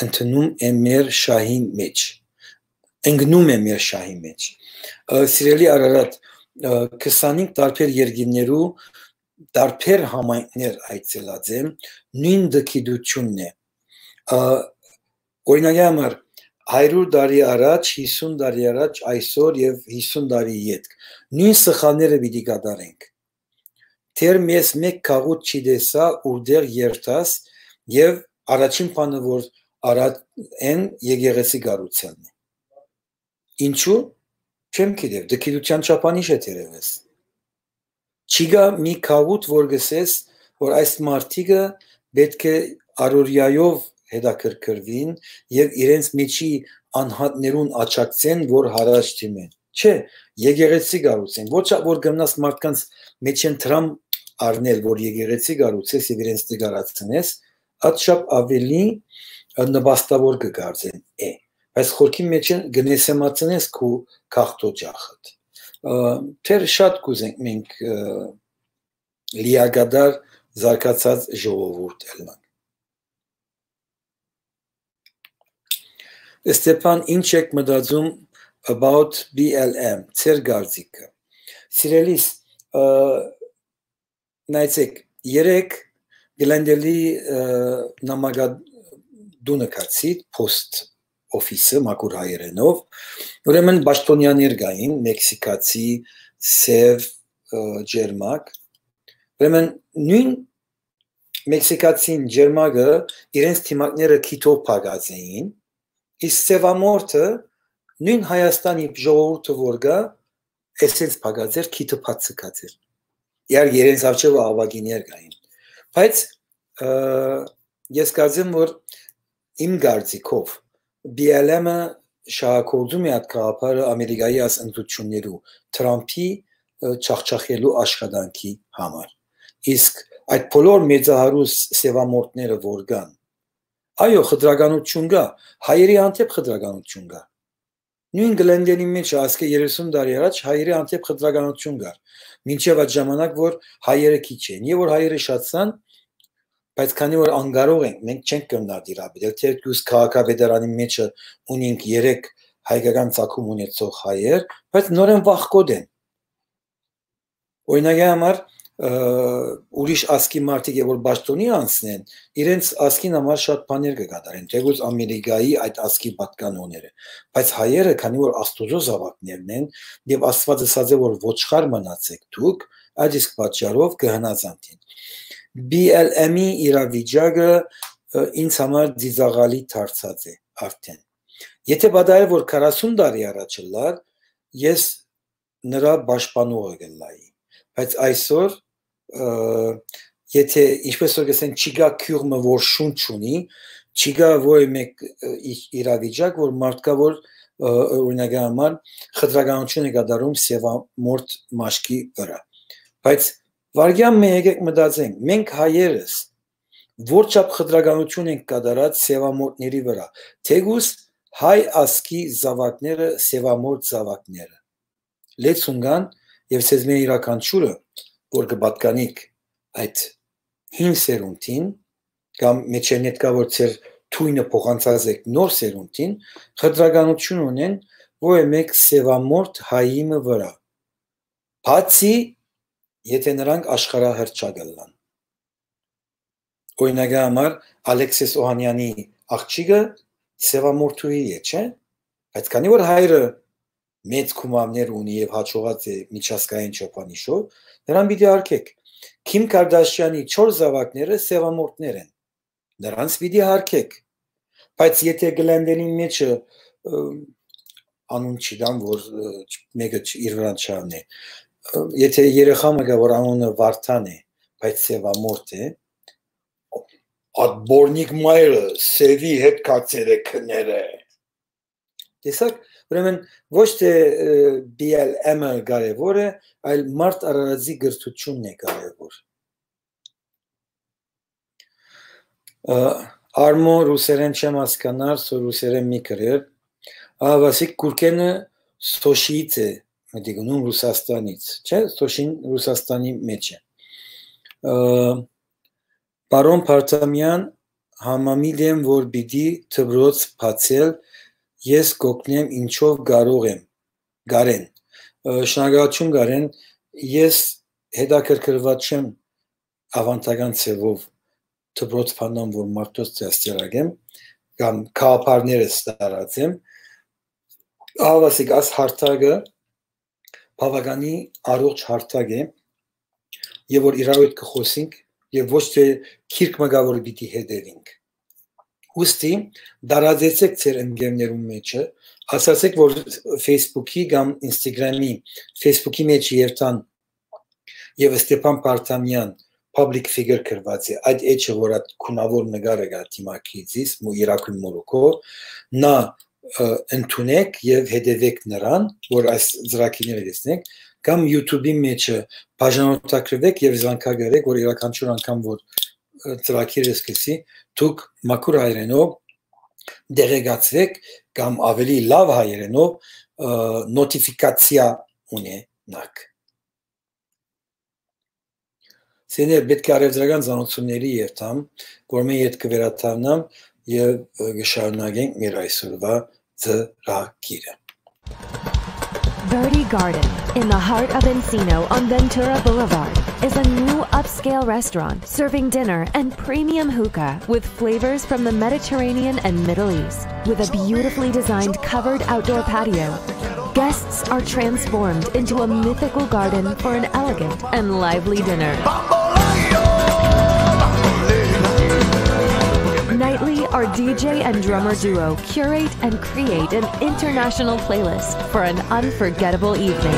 ընդունում է մեր շահին մէջ, ընկնում է մեր շահի մէջ։ Ը, սիրելի Արարատ, ը, քսանհինգ տարբեր երկիրներու տարբեր համայնքներ այցելած եմ, նոյն դգիտությունն է։ Ա, օրինակի համար, հարիւր տարի առաջ, յիսուն տարի առաջ, այսօր եւ յիսուն տարի ետք նոյն սխալները պիտի կատարենք։ Դեռ մեզ մէկ գաղութ չի տեսայ, ուրտեղ երթաս, եւ առաջին բանը, որ արած են, եկեղեցի կառուցելն է։ Ինչու՞։ Չեմ գիտեր, դգիտութեան չափանիշ է, թերեւս։ Չի գայ մի գաղութ, որ կ'ըսես, որ այս մարդիկը պէտք է առօրեայով հետաքրքրուին եւ իրենց մէջի անհատներուն աջակցեն, որ յառաջ դիմեն։ Չէ, եկեղեցի կառուցեն։ Ոչ ա-, որ գնաս մարդկանց մէջէն դրամ առնել, որ եկեղեցի կառուցես եւ իրենց նկարացնես, ատշապ ավելի, ը, նպաստաւոր կը կարծեն է։ Բայց խորքի մէջէն կնեսեմացնես քու գաղթօճախդ։ Ը, թեր շատ կուզենք մենք, ը, լիակատար զարգացած ժողովուրդ ըլլանք։ Ստեփան, ինչ եք մտածում about B L M, ձեր կարծիքը։ Սիրելիս, ը, նայեցեք, երեկ Գլենդելի, ը, նամակատունը գացի, post office-ը, մաքուր հայերենով, ուրեմն պաշտոնյաներ կային, մեքսիկացի, սեւ, ը, ջերմակ, ուրեմն նոյն մեքսիկացին ջերմակը իրենց դիմակները քիթով փակած էին, իսկ սեւամորթը նոյն Հայաստանի ժողովուրդը որ կայ, էսենց փակած էր, քիթը բաց ձգած էր։ Իհարկե, իրենց առջեւը աւագիներ կային։ Բայց, ը, ես կարծեմ, որ իմ կարծիքով B L M-ը շահագործում է այդ գաղափարը Ամերիկայի այս ընտրություններու, Թրամփի, ը, ջախջախելու աշխատանքի համար։ Իսկ այդ բոլոր մեծահարուս սեւամորթները որ կան, այո, խտրականություն կայ, հայերի հանդէպ խտրականություն կայ։ Նոյն Գլենդելի մէջ ասկէ երեսուն տարի առաջ հայերի հանդէպ խտրականություն կար։ Մինչեւ այդ ժամանակ, որ հայերը քիչ են, եւ որ հայերը շատցան, բայց քանի որ անկարող ենք, մենք չենք կրնար դիրապետել, թերթուս քաղաքավետարանի մէջը ունինք երեք հայկական ծագում ունեցող հայեր, բայց նորեն վախկոտ են։ Օրինակի համար, ը, ուրիշ ազգի մարդիկ, որ պաշտոնի անցնեն, իրենց ազգին համար շատ բաներ կը կատարեն, թեկուզ Ամերիկայի այդ ազգի պատկանողները, բայց հայերը, քանի որ Աստուծոյ զաւակներն են, եւ Աստուած ըսած է, որ ոչխար մնացեք դուք, այդ իսկ պատճառով կը հնազանդին։ B L M-ի իրավիճակը, ը, ինձ համար ծիծաղալի դարձած է արդեն։ Եթե պատահէ, որ քառասուն տարի առաջ ըլլար, ես նրա պաշտպանողը կ'ըլլայի։ Բայց այսօր, ը, եթե, ինչպես որ կ'ըսեն, չկայ գիւղ մը, որ շունչ ունի, չկայ որեւէ մէկ, ը, ի-, իրավիճակ, որ մարդ կայ, որ, ը, օրինակի համար, խտրականություն է կատարում սեւամորթ մաշկի վրայ։ Բայց վարգեան մը եկեք մտածենք, մենք հայերս որչափ խտրականություն ենք կատարած սեւամորթների վրայ, թեկուզ հայ ազգի զաւակները, սեւամորթ զաւակները լեցուն կան, եւ ձեզմէ իւրաքանչիւրը, որ կը պատկանիք այդ հին սերունդին, կամ մեջերնետկա որ ձեր թույնը փոխանցած եք նոր սերունդին, խտրականութիւն ունեն որեւէ մէկ սեւամորթ հայի մը վրայ, բացի եթէ նրանք աշխարհահռչակ ըլլան։ Օրինակի համար, Ալեքսիս Օհանեանի աղջիկը սեւամորթուհի է, չէ՞։ Բայց քանի որ հայրը մեծ գումարներ ունի եւ հաջողած է միջազգային չափանիշով, նրան պիտի արգեք։ Քիմ Կարդաշյանի չորս զաւակները սեւամորթներ են։ Նրանց պիտի արգեք։ Բայց եթէ Գլենդենին մեջը, ը, անուն չգիտեմ, որ, ը, մէկը չ-, իր վրան չառնէ, ը, եթէ երեխայ մը կայ, որ անունը Վարդան է, բայց սեւամորթ է, ատբորնիկ մայրը սեւի հետ կացեր է քները։ Տեսակ, ուրեմն ոչ թե, ը, B L M-ը կարեւոր է, այլ մարդ արարածի կրթութիւնն է կարեւոր։ Ը, Արմո, ռուսերեն չեմ հասկնար, սո ռուսերեն մի գրեր։ Ահա, Վասիկ Կուրկենը Սոշիից է, մտի գնում Ռուսաստանից, չէ՞, Սոշին Ռուսաստանի մեջ է։ Ը, պարոն Փարթամեան, համամիտ եմ, որ պիտի դպրոց բացել, ես կօգնեմ, ինչով կարող եմ, Գարեն։ Ը, շնորհակալություն, Գարեն, ես հետաքրքրված չեմ ավանդական ձևով դպրոց բանամ, որ մարդոց դաստիարակեմ, կամ գաղափարներս տարածեմ։ Ահա, Վասիկ, աս հարթակը բաւականի առողջ հարթակ է, եւ որ իրարու հետ կը խօսինք, եւ ոչ թե գիրք մը կայ, որ պիտի հետեւինք։ Ուստի, տարածեցէք ձեր ընկերներուն մեջը, ասացէք, որ Facebook-ի կամ Instagram-ի, Facebook-ի մեջ երթան եւ Ստեփան Փարթամեան public figure գրուած է, այդ էջը, որ այդ քունաւոր նկարը կայ դիմագիծիս, մու իրակույն մորուքով, նա, ը, ընդունեք եւ հետեւեք նրան, որ այս ծրագիրները տեսնեք, կամ YouTube-ի մեջը բաժանորդագրվեք եւ զանգակարեք, որ յուրաքանչյուր անգամ, որ, ը, ծրագիրը սկսի, դուք մաքուր հայերէնով տեղեկացուեք կամ ավելի լաւ հայերէնով, ը, նոթիֆիկացիա ունենաք։ Սիրելիներ, պէտք է առեւտրական ծանօթութիւնների երթամ, որ մէ յետ կը վերադառնամ եւ, ը, կը շարունակենք մեր այսօրվա ծրագիրը։ Birdie Garden, in the heart of Encino on Ventura Boulevard, is a new upscale restaurant serving dinner and premium hookah with flavors from the Mediterranean and Middle East. With a beautifully designed covered outdoor patio, guests are transformed into a mythical garden for an elegant and lively dinner. Nightly, our D J and drummer duo curate and create an international playlist for an unforgettable evening.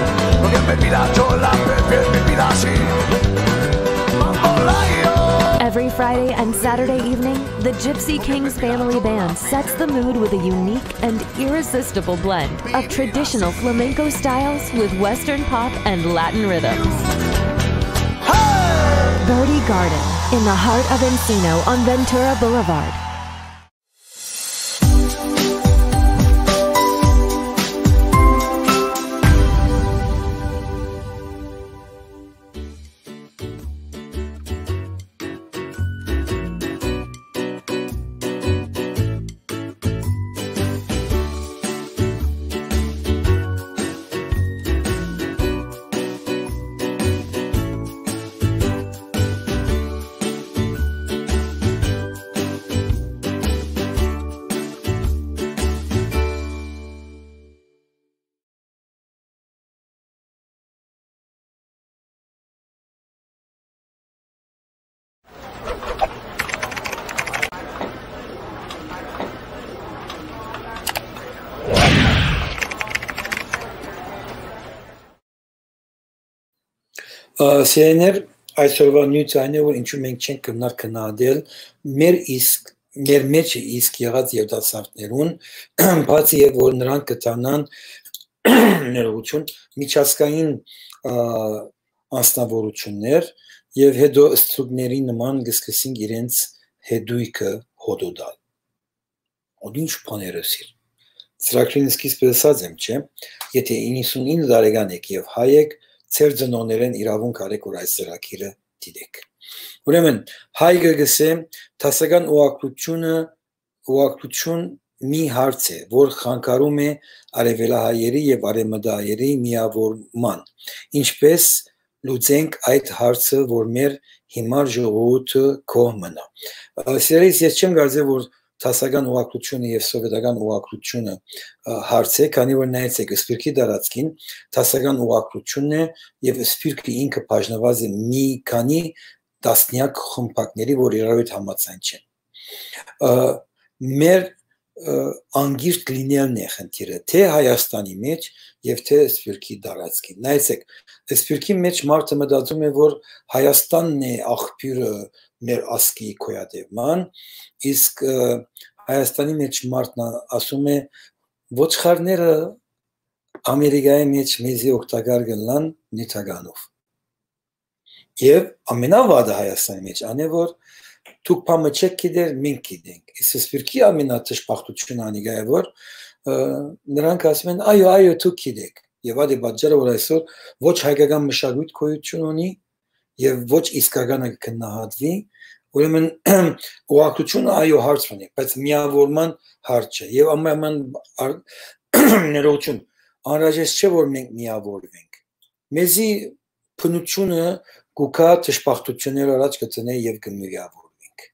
Every Friday and Saturday evening, the Gypsy Kings Family Band sets the mood with a unique and irresistible blend of traditional flamenco styles with Western pop and Latin rhythms. Birdie Garden, in the heart of Encino on Ventura Boulevard. Ա, սիրելիներ, այսօրվա նիւթը այն է, որ ինչու մենք չենք կրնար քննադատել մեր իսկ, մեր մեջը իսկ եղած երիտասարդներուն, բացի եւ որ նրանք կտանան ներողություն, միջազգային, ա, անձնավորություններ, եւ հետո ստրուկների նման կսկսին իրենց հետոյքը հոտոտալ։ Ոտ ինչ բաներ ըսիր։ Ծրագրին սկիզբը ըսած եմ, չէ՞, եթե իննսունինը տարեկան եք եւ հայ եք, ձեր ծնողներէն իրաւունք առեք, որ այս ծրագիրը դիտեք։ Ուրեմն, Հայկը կ'ըսէ, դասական ուղղագրութիւնը, ուղղագրութիւն մի հարց է, որ խանգարում է արեւելահայերի եւ արեւմտահայերի միավորման։ Ինչպէս լուծենք այդ հարցը, որ մեր հիմար ժողովուրդը գոհ մնայ։ Ը, սիրելիս, ես չեմ կարծեր, որ դասական ուղղագրութիւնը եւ սովետական ուղղագրութիւնը, ը, հարց է, քանի որ նայեցէք, սփիւռքի տարածքին դասական ուղղագրութիւնն է եւ սփիւռքը ինքը բաժնուած է մի քանի տասնեակ խմբակների, որ իրարու հետ համաձայն չեն։ Ը, մեր, ը, անգիրտ լինելն է խնդիրը, թե Հայաստանի մէջ եւ թե սփիւռքի տարածքին։ Նայեցէք, սփիւռքի մէջ մարդը մտածում է, որ Հայաստանն է աղբիւրը մեր ազգի գոյատեւման, իսկ, ը, Հայաստանի մէջ մարդն ա-, ասում է, ոչխարները Ամերիկայի մէջ մեզի օգտակար կ'ըլլան նիւթականով։ Եւ ամենավատը Հայաստանի մէջ ան է, որ դուք բանը չեք գիտեր, մենք գիտենք։ Իսկ սփիւռքի ամենատշպախտությունը անիկա է, որ, ը, նրանք ասում են, «Այո, այո, դուք գիտեք»։ Եւ այդ է պատճառը, որ այսօր ոչ հայկական մշակոյթ գոյութիւն ունի եւ ոչ իսկականը կը գնահատուի, ուրեմն ուղղագրութիւնը, այո, հարց ունի, բայց միավորման հարց չէ։ Եւ ամեն, ամեն ար-, ներողություն, անհրաժեշտ չէ, որ մենք միավորվենք։ Մեզի բնությունը կու գայ դժբախտություններ առաջ կը դնէ եւ կը միավորվենք։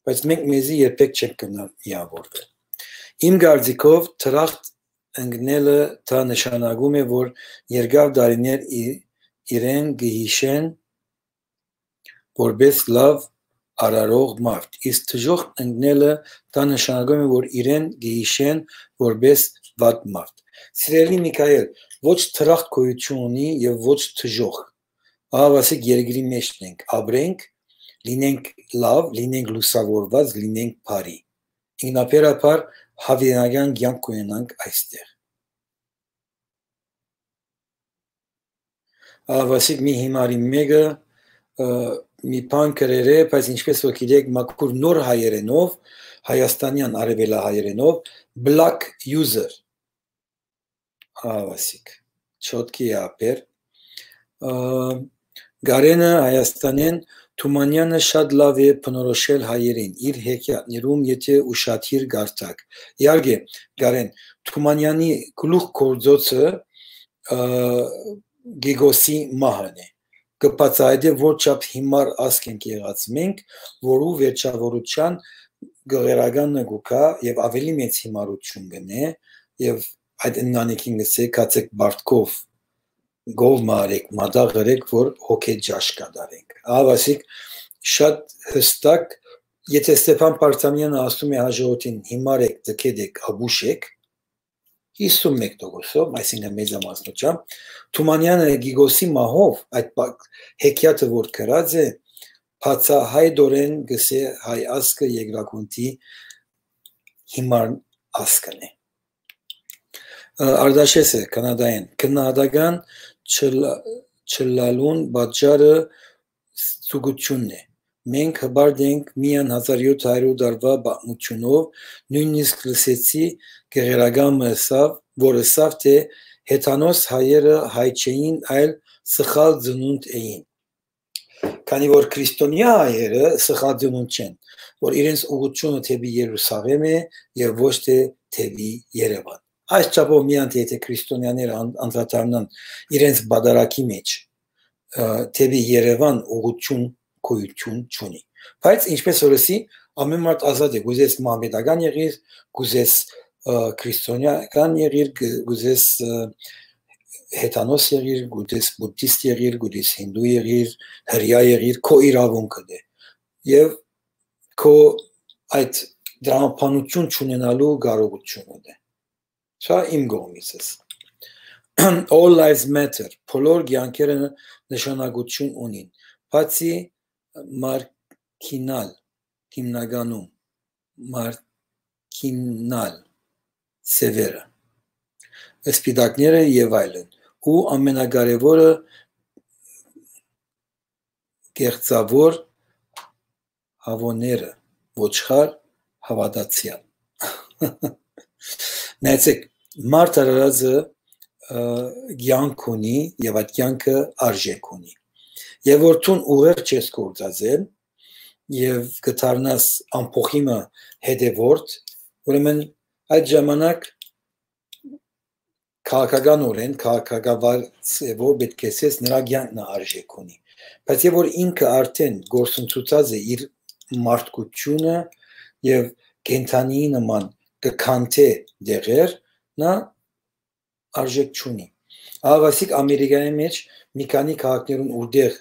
Բայց մենք մեզի երբեք չենք կրնար միավորվել։ Իմ կարծիքով, դրախտ ընկնելը դա նշանակում է, որ երկար տարիներ ի-, իրեն կը յիշեն որպես լաւ արարող մարդ, իսկ դժոխք ընկնելը դա նշանակում է, որ իրեն կը յիշեն որպես վատ մարդ։ Սիրելի Միքայել, ոչ դրախտ գոյութիւն ունի եւ ոչ դժոխք։ Ահա, ասիկ, երկրի մէջն ենք, ապրենք, լինենք լաւ, լինենք լուսաւորուած, լինենք բարի։ Ինքնաբերաբար, յաւիտենական կեանք կ'ունենանք այստեղ։ Ահա, ասիկ, մի հիմարի մէկը, ը, մի բան գրեր է, բայց, ինչպես որ գիտեք, մաքուր նոր հայերէնով, հայաստանեան արեւելահայերէնով, black user, ահա, ասիկ, չոտքի է ապեր։ Ը, Գարենը Հայաստանեն, Թումանյանը շատ լաւ է բնորոշել հայերին, իր հեքիաթներում, եթե ուշադիր կարդաք։ Իհարկե, Գարեն, Թումանյանի գլուխ գործոցը, ը, Գիգոսի մահն է։ Կը բացայայտէ, որ չափ հիմար ազգ ենք եղած մենք, որու վերջավորության գղերականը կու գայ եւ ավելի մեծ հիմարություն կ'ընէ, եւ այդ ընտանիքին կ'ըսէ, «Գացեք պարտքով, գով մը արեք, մատաղ ըրեք, որ հոգէ ճաշ կատարենք»։ Ահա, ասիկ, շատ յստակ, եթե Ստեփան Պարծամեանը ասում է հաջորդին, «Հիմար եք, տգետ եք, աբուշ եք», հիսուն մէկ տոկոսով, այսինքն, մեծամասնությամբ, Թումանյանը Գիգոսի մահով, այդ պա-, հեքիաթը որ գրած է, բացահայտօրէն կ'ըսէ հայ ազգը երկրագունդի հիմար ազգն է։ Ը, Արտաշէսը, Քանադայէն, քննադատական չլա-, չլալուն պատճառը ստուգությունն է։ Մենք հպարտ ենք միայն հազար յոթ հարյուր տարուայ պատմութիւնով, նոյնիսկ լսեցի գեղերական մը ըսաւ, որ ըսաւ, թէ հեթանոս հայերը հայ չէին, այլ սխալ ծնունդ էին։ Քանի որ քրիստոնեայ հայերը սխալ ծնունդ չեն, որ իրենց ուղղությունը դէպի Երուսաղէմ է եւ ոչ թէ դէպի Երեւան։ Այս չափով միայն թէ, եթե քրիստոնեաները ան-, անդրադառնան իրենց պատարագի մէջ, ը, դէպի Երեւան ուղղություն գոյութիւն չունի։ Բայց, ինչպես որ ըսի, ամեն մարդ ազատ է, կ'ուզես մահմետական եղիր, կ'ուզես, ը, քրիստոնեական եղիր, կը-, կ'ուզես, ը, հեթանոս եղիր, կ'ուզես բուդդիստ եղիր, կ'ուզես հինդու եղիր, հրեայ եղիր, քո իրաւունքդ է։ Եւ քո այդ դրամաբանութիւն չունենալու կարողութիւնդ է։ Սա իմ կողմիցս։ All lives matter, բոլոր կեանքերը նշանակութիւն ունին, բացի մարկինալ, հիմնականում մարկինալ սեւերը, սպիտակները եւ այլն, ու ամենակարեւորը, կեղծաւոր հաւոները, ոչխար հաւատացեալ։ Նայեցեք, մարդ արարածը, ը, կեանք ունի եւ այդ կեանքը արժեք ունի։ Եւ որ դուն ուղեղ չես գործածել, եւ կը դառնաս ամբոխի մը հետեւորդ, ուրեմն այդ ժամանակ քաղաքականօրէն, քաղաքակավար ձեւով պէտք է ասես, նրա կեանքն ը արժէք ունի։ Բայց եւ որ ինքը արդեն գործընծուցած է իր մարդկությունը եւ կենդանիի նման կը քանթէ դեղեր, նա արժէք չունի։ Ահա ասիկ Ամերիկայի մեջ մի քանի քաղաքներուն, ուրտեղ,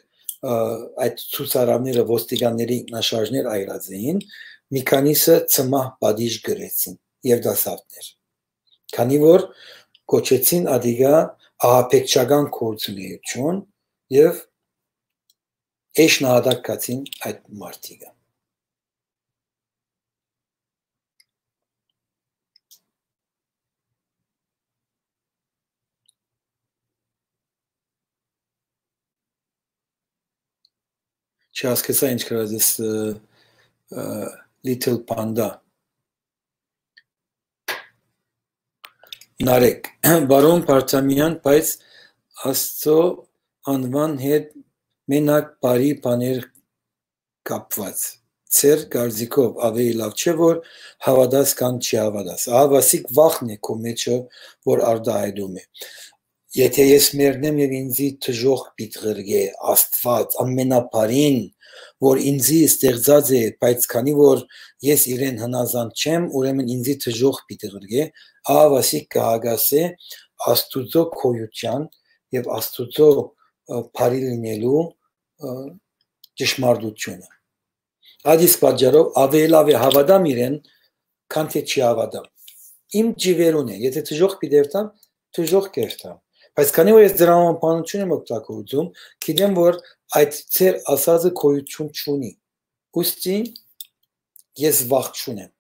ը, այդ ցուցարարները ոստիկանների ինքնաշարժներ այրած էին, մի քանիսը ցմահ պատիժ գրեցին եւ դասավներ, քանի որ կոչեցին ադիգա ահաբեկչական գործունեություն եւ էշ նահատակ գացին այդ մարդիկը։ Չհասկացայ ինչ գրած ես, ը, ը, Little Panda։ Նարեկ, բարոն Պարթամեան, բայց Աստծո անուան հետ մենակ բարի բաներ կապված։ Ձեր կարծիքով ավելի լաւ չէ՞ որ հաւատաս կամ չի հաւատաս։ Ահա ասիկ վախն է քո մեջը, որ արտահայտում է։ Եթե ես մեռնեմ եւ ինձի դժոխք պիտի ղրկէ Աստուած, ամենաբարին, որ ինձի ստեղծած է, բայց քանի որ ես իրեն հնազանդ չեմ, ուրեմն ինձի դժոխք պիտի ղրկէ, ահա ասիկ կը հակասէ Աստուծոյ գոյութեան եւ Աստուծոյ, ը, բարի լինելու, ը, ճշմարտութիւնը։ Այդ իսկ պատճառով ավելի լաւ է հաւատամ իրեն, քան թէ չի հաւատամ։ Իմ ջիվերուն է, եթե դժոխք պիտի երթամ, դժոխք կերթամ։ Բայց քանի որ ես դրամաբանութիւն եմ օգտագործում, գիտեմ, որ այդ ձեր ասածը գոյութիւն չունի։ Ուստի ես վախ չունեմ։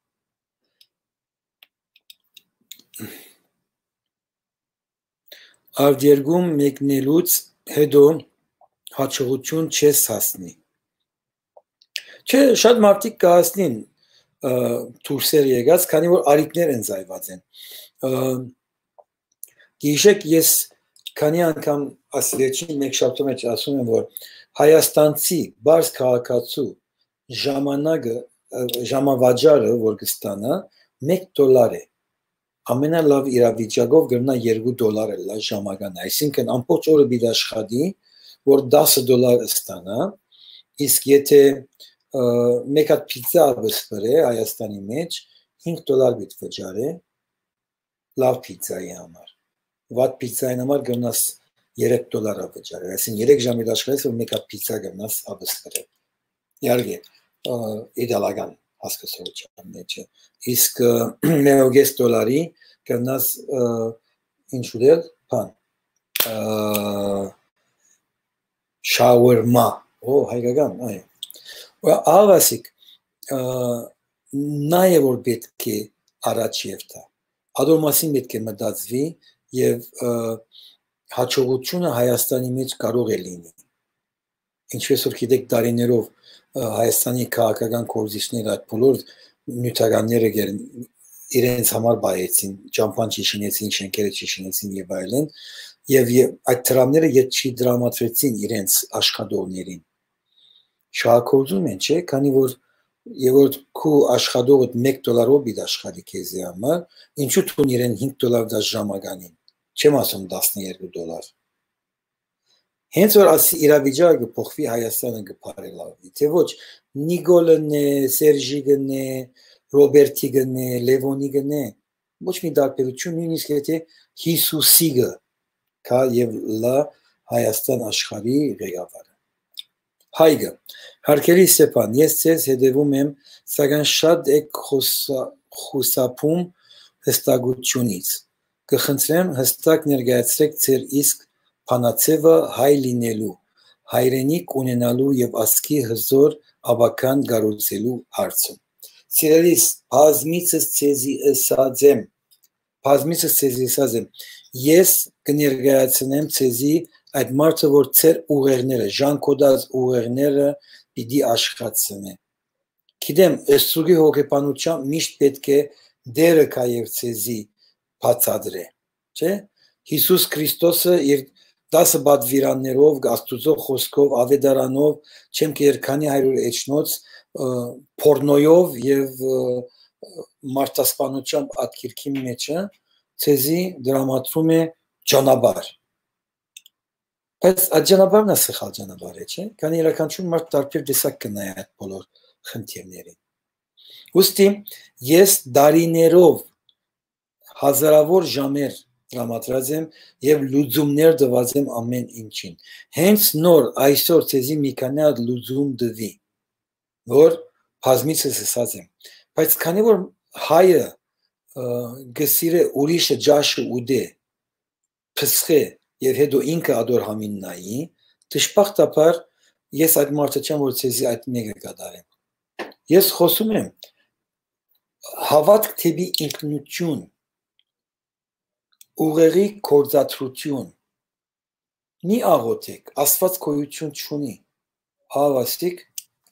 Արտերկում մեկնելուց հետո յաջողութիւն չես հասնի։ Չէ, շատ մարդիկ կը հասնին, ը, դուրսեր եկած, քանի որ առիթներ ընծայված են։ Ը, գիշեք ես քանի անգամ աս վերջին մեկ շաբթու մեջ ասում եմ, որ հայաստանցի բարձ քաղաքացու ժամանակը, ը, ժամավաճառը, որ կստանա, մեկ դոլար է։ Ամենալաւ իրավիճակով կրնայ երկու դոլար ըլլայ ժամական, այսինքն ամբողջ օրը պիտի աշխատի, որ տասը դոլար ստանայ, իսկ եթե, ը, մեկ հատ փիցա վսպրէ Հայաստանի մեջ, հինգ դոլար պիտի վճարէ լաւ փիցայի համար։ Վատ փիցային համար կրնաս երեք դոլար ա վճարել, այսինքն երեք ժամ պիտի աշխատես, որ մեկ հատ փիցա կրնաս վսպրել։ Իհարկե, ը, իտալական հասկացողութեան մեջ է։ Իսկ, ը, մերոյ կէս դոլարի կրնաս, ը, ինչ ուտել, բան, ը, շաուրմա, օ, հայկական, այ։ Ուրեմն, ահա ասիկ, ը, նա է, որ պէտք է առաջ երթայ։ Ադոր մասին պէտք է մտածուի եւ, ը, յաջողութիւնը Հայաստանի մեջ կարող է լինի։ Ինչպես որ գիտեք, տարիներով, ը, Հայաստանի քաղաքական գործիչները այդ բոլոր նիւթականները գեր-, իրենց համար պահեցին, ճամբան չշինեցին, շենքերը չշինեցին եւ այլն, եւ, եւ այդ դրամները ետ չի դրամատրեցին իրենց աշխատողներին։ Շահագործում են, չէ՞, քանի որ, եւ որ քու աշխատողդ մեկ դոլարով պիտի աշխատի քեզի համար, ինչու դուն իրեն հինգ դոլար տաս ժամականին, չեմ ասում տասներկու դոլար։ Հենց որ աս իրավիճակը կը փոխուի, Հայաստանը կը բարելավի, թէ ոչ, Նիկոլն է, Սերժիկն է, Ռոբերտիկն է, Լեւոնիկն է, ոչ մի տարբերություն, նոյնիսկ եթե Հիսուսիկը կայ եւ լա Հայաստան աշխարհի ղեկավարը։ Հայկը, հարգելի Ստեփան, ես ձեզ հետևում եմ, սակայն շատ եք խոսա-, խուսափում հստակությունից։ Կը խնդրեմ, հստակ ներկայացրեք ձեր իսկ բանաձևը հայ լինելու, հայրենիք ունենալու եւ ազգի հզոր ապագան կառուցելու հարցում։ Սիրելիս, բազմիցս ձեզի ըսած եմ, բազմիցս ձեզի ըսած եմ, ես կը ներկայացնեմ ձեզի այդ մարդը, որ ձեր ուղեղները, ժանքոտած ուղեղները պիտի աշխատցնէ։ Գիտեմ, ստրուկի հոգեբանությամբ միշտ պէտք է դերը կայ եւ ձեզի բացատրէ, չէ՞։ Հիսուս Քրիստոսը իր դասը պատուիրաններով, Աստուծոյ խօսքով, աւետարանով, չեմ կերեր քանի հարիւր էջնոց, ը, պորնոյով եւ, ը, մարդասպանութեան ատկիրքին մէջը ձեզի դրամատրում է ճանապարհ։ Բայց այդ ճանապարհն է սխալ ճանապարհ է, չէ՞։ Քանի յուրաքանչյուր մարդ տարբեր տեսակ կը նայ այդ բոլոր խնդիրներին։ Ուստի ես դարիներով հազարաւոր ժամեր տրամադրած եմ եւ լուծումներ տուած եմ ամէն ինչին։ Հենց նոր այսօր ձեզի մի քանի հատ լուծում տուի, որ բազմիցս ըսած եմ։ Բայց քանի որ հայը, ը, կը սիրէ ուրիշը ճաշը ուտէ, փսխէ եւ հետո ինքը ատոր համին նայի, դժբախտաբար ես այդ մարդը չեմ, որ ձեզի այդ մէկը կատարեմ։ Ես խօսում եմ հաւատք դէպի ինքնություն, ուղեղի գործադրութիւն։ Մի աղօթէք, Աստուած գոյութիւն չունի։ Ահա ասիկ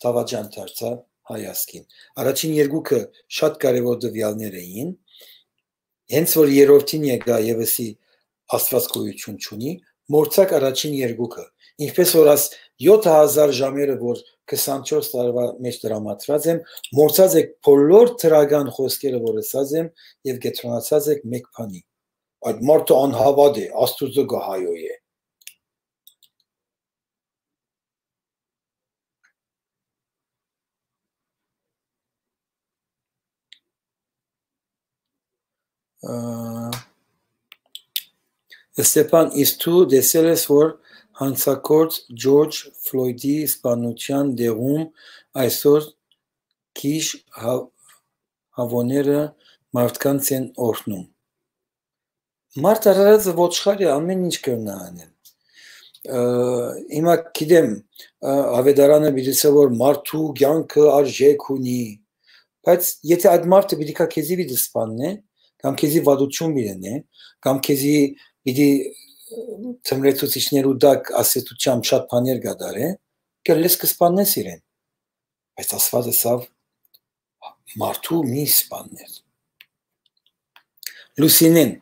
դաւաճան դարձայ հայ ազգին։ Առաջին երկուքը շատ կարեւոր տուեալներ էին, հենց որ երրորդին եկայ եւ ըսի Աստուած գոյութիւն չունի, մոռցաք առաջին երկուքը։ Ինչպես որ աս յոթ հազար ժամերը, որ քսանչորս տարուայ մէջ տրամադրած եմ, մոռցած էք բոլոր դրական խօսքերը, որ ըսած եմ, եւ կեդրոնացած էք մէկ բանի։ Այդ մարդը անհաւատ է, Աստուծոյ գահայոյ է։ Ը, Ստեփան, իսկ դու տեսել ես, որ յանցագործ Ջորջ Ֆլոյդի սպանության տեղում այսօր գիժ հա-, հաւոները մարդկանց են օրհնում։ Մարդ արարածը ոչխար է, ամեն ինչ կրնայ անեն։ Ը, հիմա գիտեմ, ը, աւետարանը պիտի ասէ, որ մարդու կեանքը արժէք ունի, բայց եթէ այդ մարդը պիտի գայ քեզի պիտի սպաննէ, կամ քեզի վատութիւն պիտի ընէ, կամ քեզի պիտի, ը, թմրեցուցիչներու տակ ասեցութեամբ շատ բաներ կատարէ, կը լեզ կը սպաննես իրեն։ Բայց Աստուած ըսաւ, մարդու մի սպաններ։ Լուսինեն,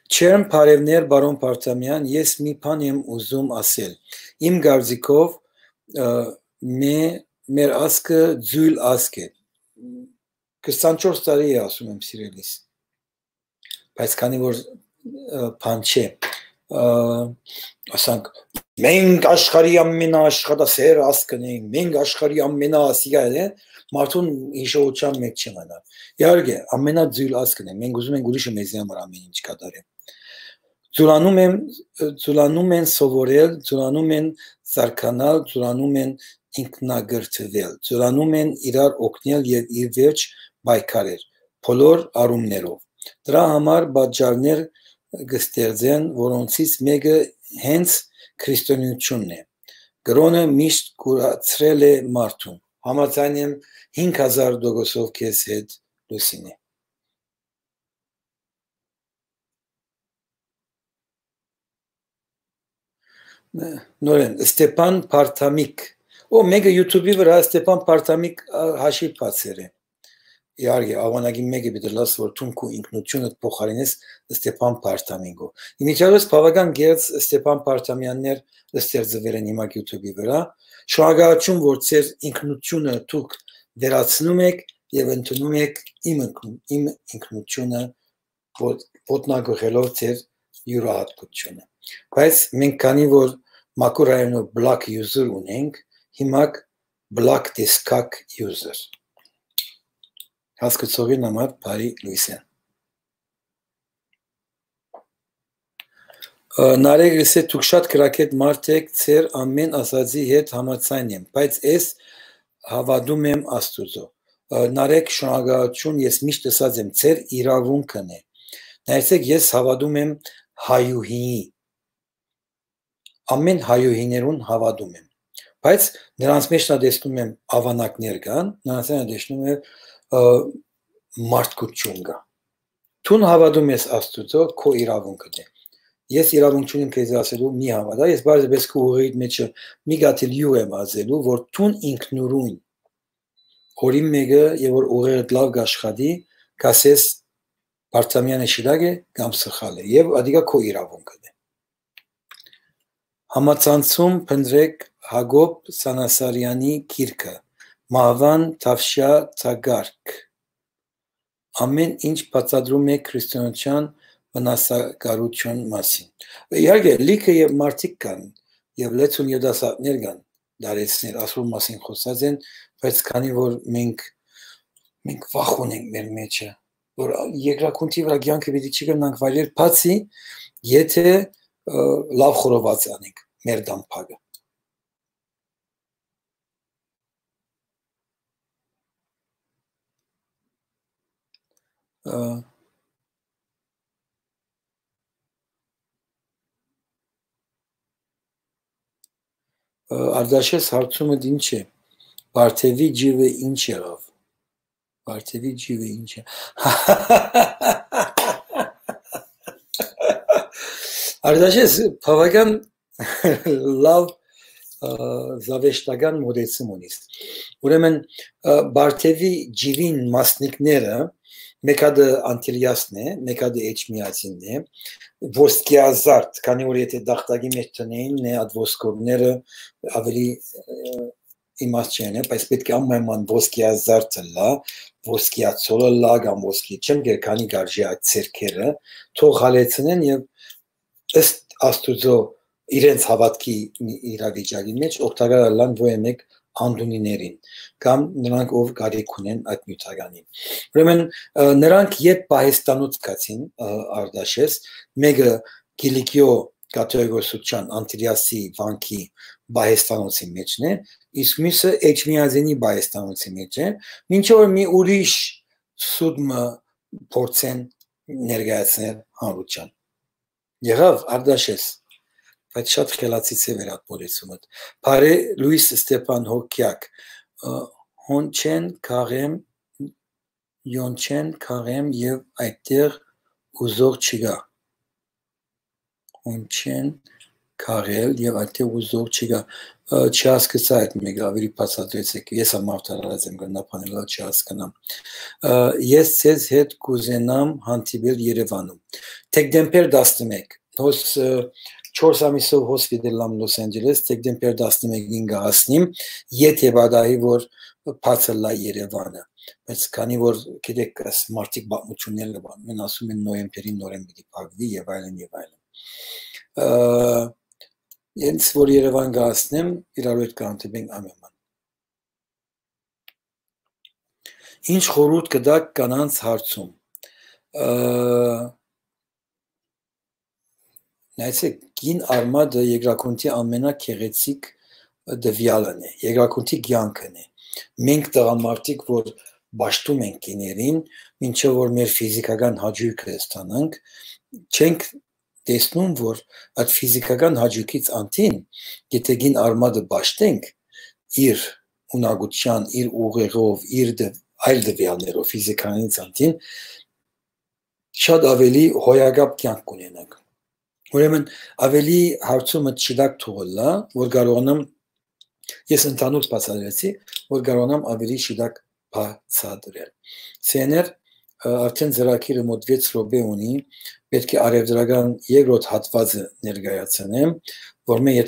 չերմ բարեւներ, պարոն Պարտամեան, ես մի բան եմ ուզում ասել։ Իմ կարծիքով, ը, մե-, մեր ազգը ձոյլ ազգ է։ Քսանչորս տարի է, ասում եմ, սիրելիս։ Բայց քանի որ, ը, բան չէ, ը, ասանք, մենք աշխարհի ամենաաշխատասեր ազգն ենք, մենք աշխարհի ամենաասիկա է, մարդուն հիշողության մեջ չմնա։ Իհարկե, ամենաձոյլ ազգն է, մենք ուզում ենք ուրիշը մեզի համար ամեն ինչ կատարի։ Ձուլանում եմ, ձուլանում են սովորել, ձուլանում են զարգանալ, ձուլանում են ինքնակրթվել, ձուլանում են իրար օգնել եւ իր վերջ պայքարել, բոլոր առումներով։ Դրա համար պատճառներ կը ստեղծեն, որոնցից մէկը հենց քրիստոնեությունն է։ Կրոնը միշտ կուրացրել է մարդուն։ Համաձայն եմ հինգ հազար տոկոսով քեզ հետ, Լուսինե։ Նորեն, Ստեփան Պարտամիկ։ Ո, մէկը YouTube-ի վրայ Ստեփան Պարտամիկ, ա, հաշիվ բացեր է։ Իհարկե, աղուանակի մէկը պիտի լաս, որ դուն քու ինքնությունդ փոխարինես Ստեփան Պարտամիկով։ Իմիջիայլոց բաւական գերծ Ստեփան Պարտամեաններ ստեղծուեր են հիմա YouTube-ի վրայ։ Շնորհակալություն, որ ձեր ինքնությունը դուք վերացնում եք եւ ընդունում եք իմ ինքն-, իմ ինքնությունը, ոտ-, ոտնակոխելով ձեր յուրահատկությունը։ Բայց մենք քանի որ մաքուր հայերէնով black user ունենք, հիմա black տեսքակ user։ Հասկացողին համար բարի լոյս է։ Ը, Նարեկ լսե, դուք շատ կրակետ մարդ եք, ձեր ամեն ասածի հետ համաձայն եմ, բայց ես հավատում եմ Աստուծո։ Ը, Նարեկ, շնորհակալություն, ես միշտ ըսած եմ, ձեր իրավունքն է։ Նայեցեք, ես հավատում եմ հայուհիի, ամեն հայուհիներուն հավատում եմ, բայց նրանց մեջ նա տեսնում եմ ավանակներ կան, նրանց մեջ նա տեսնում եմ, ը, մարդկություն կա։ Դուն հավատում ես Աստուծո, քո իրավունքդ է։ Ես իրավունք չունեմ քեզի ասելու մի հավատա, ես պարզապես քո ուղիդ մեջը մի կաթիլ յուղ եմ ազելու, որ դուն ինքնուրույն օրին մեկը, եւ որ ուղեղդ լաւ կաշխատի, կասես Պարտամեանը շիտակ է կամ սխալ է, եւ ադիկա քո իրավունքդ է։ Համացանցում փնտռէք Յակոբ Սանասարեանի գիրքը, մահուան թաւշեա թակարդը։ Ամէն ինչ բացատրում է քրիստոնէական վնասակարութեան մասին։ Իհարկե, լիքը եւ մարդիկ կան, եւ լեցուն երիտասարդներ կան, դարեցներ, ասոր մասին խօսած են, բայց քանի որ մենք, մենք վախ ունենք մեր մեջը, որ երկրագունդի վրայ կեանքը պիտի չի կրնանք վայելել, բացի եթե, ը, լաւ խորոված անենք մեր դամբակը։ Ը, ը, Արտաշես, հարցումը ինչ է։ Պարթեւի ջիվը ինչ եղաւ։ Պարթեւի ջիվը ինչ է։ Արտաշես, բաւական լաւ, ը, զաւեշտական մոտեցում ունիս։ Ուրեմն, ը, Պարթեւի ջիվին մասնիկները, մէկ հատը անտիլիասն է, մէկ հատը էջմիածինն է, ոսկեազարդ, քանի որ եթե դախտակի մեջ դնեին, նե այդ ոսկորները ավելի, ը, իմաստ չեն, բայց պէտք է անպայման ոսկեազարդ ըլլայ, ոսկեացոլ ըլլայ կամ ոսկի չեմ գեր, քանի կարժի այդ ձեռքերը, թող հալեցնեն եւ ըստ Աստուծոյ իրենց հաւատքի իրավիճակի մեջ օգտակար ըլլան ոչ մէկ անդունիներին կամ նրանք, ով կարիք ունեն այդ նիւթականին։ Ուրեմն, ը, նրանք երբ պահեստանոց գացին, ը, Արտաշես, մէկը Կիլիկիոյ կաթողիկոսության Անտիլիասի վանքի պահեստանոցի մեջն է, իսկ միւսը Էջմիածինի պահեստանոցի մեջ է, մինչդեռ որ մի ուրիշ սուտ մը փորձեն ներկայացնել հանրութեան։ Եղաւ, Արտաշես, բայց շատ խելացի ձեւ էր այդ մոտեցումդ։ Բարի լոյս, Ստեփան Հոգեակ, ը, հոն չեն քաղեմ, յոն չեն քաղեմ եւ այդտեղ ուզող չկա։ Հոն չեն քաղել եւ այդտեղ ուզող չկա։ Ը, չհասկացայ այդ մէկը, ավելի բացատրեցէք, ես ալ մաղթարարած եմ, կրնամ բանելալ, չհասկնամ։ Ը, ես ձեզ հետ կուզենամ հանդիպել Երեւանում։ Դեկտեմբեր տասնմէկ, հոս, ը, չորս ամիսով հոս պիտի լամ Լոս Անջելես, դեկտեմբեր տասնմէկին կը հասնիմ, եթե պատահի որ բաց ըլլայ Երեւանը։ Բայց քանի որ, գիտեք, այս մարդիկ պատմութիւններ կը պատմեն, ասում են նոյեմբերին նորէն պիտի փակուի եւ այլն եւ այլն։ Ը, հենց որ Երեւան կը հասնեմ, իրարու հետ կհանդիպենք ամէն բան։ Ինչ խորհուրդ կը տաք կանանց հարցում։ Ը, նայեցեք, կին արմատը երկրագունդի ամենագեղեցիկ տուեալն է, երկրագունդի կեանքն է։ Մենք տղամարդիկ, որ պաշտում ենք կիներին, մինչեւ որ մեր ֆիզիքական հաճոյքը ստանանք, չենք տեսնում, որ այդ ֆիզիքական հաճոյքից անդին, եթե կին արմատը պաշտենք իր ունակության, իր ուղեղով, իր դը-, այլ տուեալներով, ֆիզիքայից անդին, շատ ավելի հոյակապ կեանք կունենանք։ Ուրեմն ավելի հարցումը չդակ թողելա, որ կարողանամ, ես ընդհանուր բացատրեցի, որ կարողանամ ավելի շիտակ բացատրել։ Սեներ, ը, արդեն ծրագիրը մոտ վեց րոպե ունի, պէտք է առեւտրական երկրորդ հատուածը ներկայացնեմ, որ մէ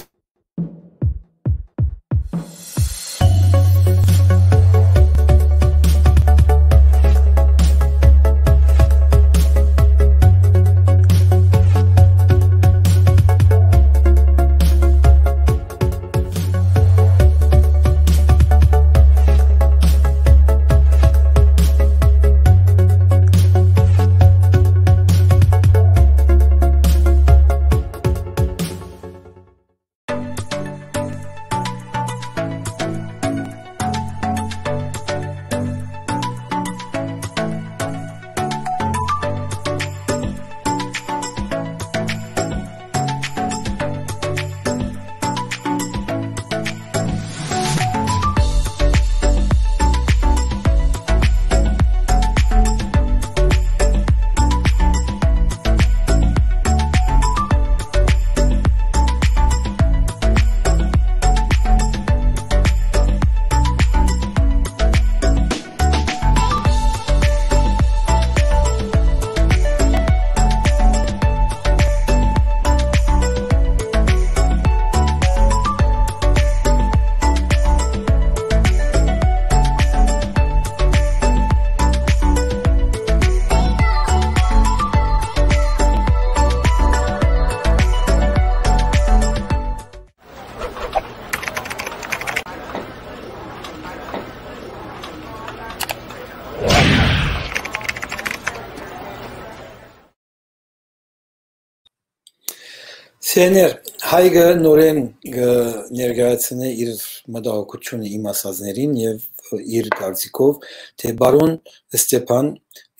Տեներ, Հայկը նորէն կը ներկայացնէ իր մտահոգութիւնը իմ ասածներին եւ իր կարծիքով, թէ բարոն Ստեփան,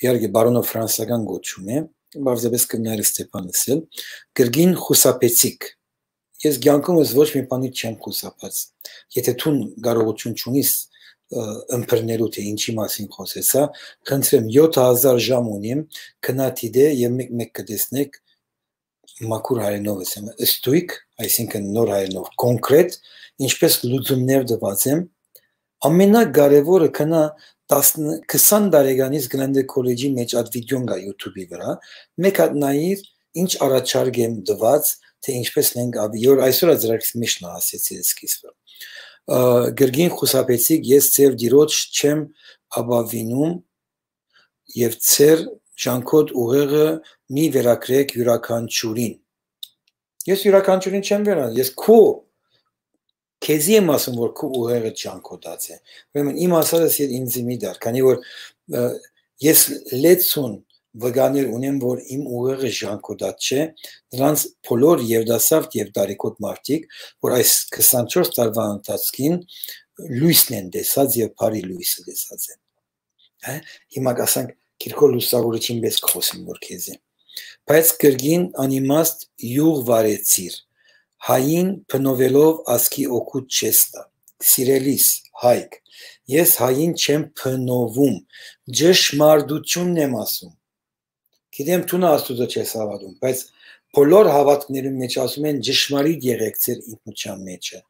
իհարկե բարոնը ֆրանսական կոչում է, պարզապէս կրնար Ստեփան ըսել, կրկին խուսափեցիք։ Ես կեանքումս ոչ մի բանի չեմ խուսափած։ Եթե դուն կարողութիւն չունիս, ը, ըմբռնելու, թէ ինչի մասին խօսեցայ, խնդրեմ, յոթ հազար ժամ ունիմ, գնա դիտէ եւ մեկ-մեկ կը տեսնէք, մաքուր հայերէնով ըսեմ, ստոյգ, այսինքն նոր հայերէնով, կոնկրետ, ինչպէս լուծումներ տուած եմ, ամենակարեւորը, քնա տասն, քսան տարեկանից Գլենդէ քոլեջի մէջ այդ վիդեոն կայ YouTube-ի վրա, մեկ հատ նայիր, ինչ առաջարկ եմ տուած, թէ ինչպէս մենք ավ-, յոր այսօր ա ծրագրիս միշտ նայ ասեցի սկիզբը։ Ը, կրկին խուսափեցիք, ես ձեր դիրոջ չեմ ապավինում, եւ ձեր ժանքոտ ուղեղը մի վերագրեք յուրաքանչիւրին։ Ես յուրաքանչիւրին չեմ վերան, ես քու, քեզի եմ ասում, որ քու ուղեղը ժանքոտած է։ Ուրեմն իմ ասածս ես ինձի մի դար, քանի որ, ը, ես լեցուն վկաներ ունեմ, որ իմ ուղեղը ժանքոտած չէ, նրանց բոլոր երիտասարդ եւ տարիքոտ մարդիկ, որ այս քսանչորս տարուան ընթացքին լոյսն են տեսած եւ բարի լոյսը տեսած են։ Հա, հիմա կ'ասենք, Կիրկոր լուսավորիչին պէս կ'խօսեմ որ քեզի։ Բայց կրկին անիմաստ յուղ վարեցիր, հային փնովելով ասկի օգուտ չես տայ։ Սիրելիս, Հայկ, ես հային չեմ փնովում, ճշմարտությունն եմ ասում։ Գիտեմ, դու Աստուծո չես հաւատում, բայց բոլոր հաւատքներուն մէջ ասում են, «Ճշմարիտ եղեք ձեր ինքնության մէջը»։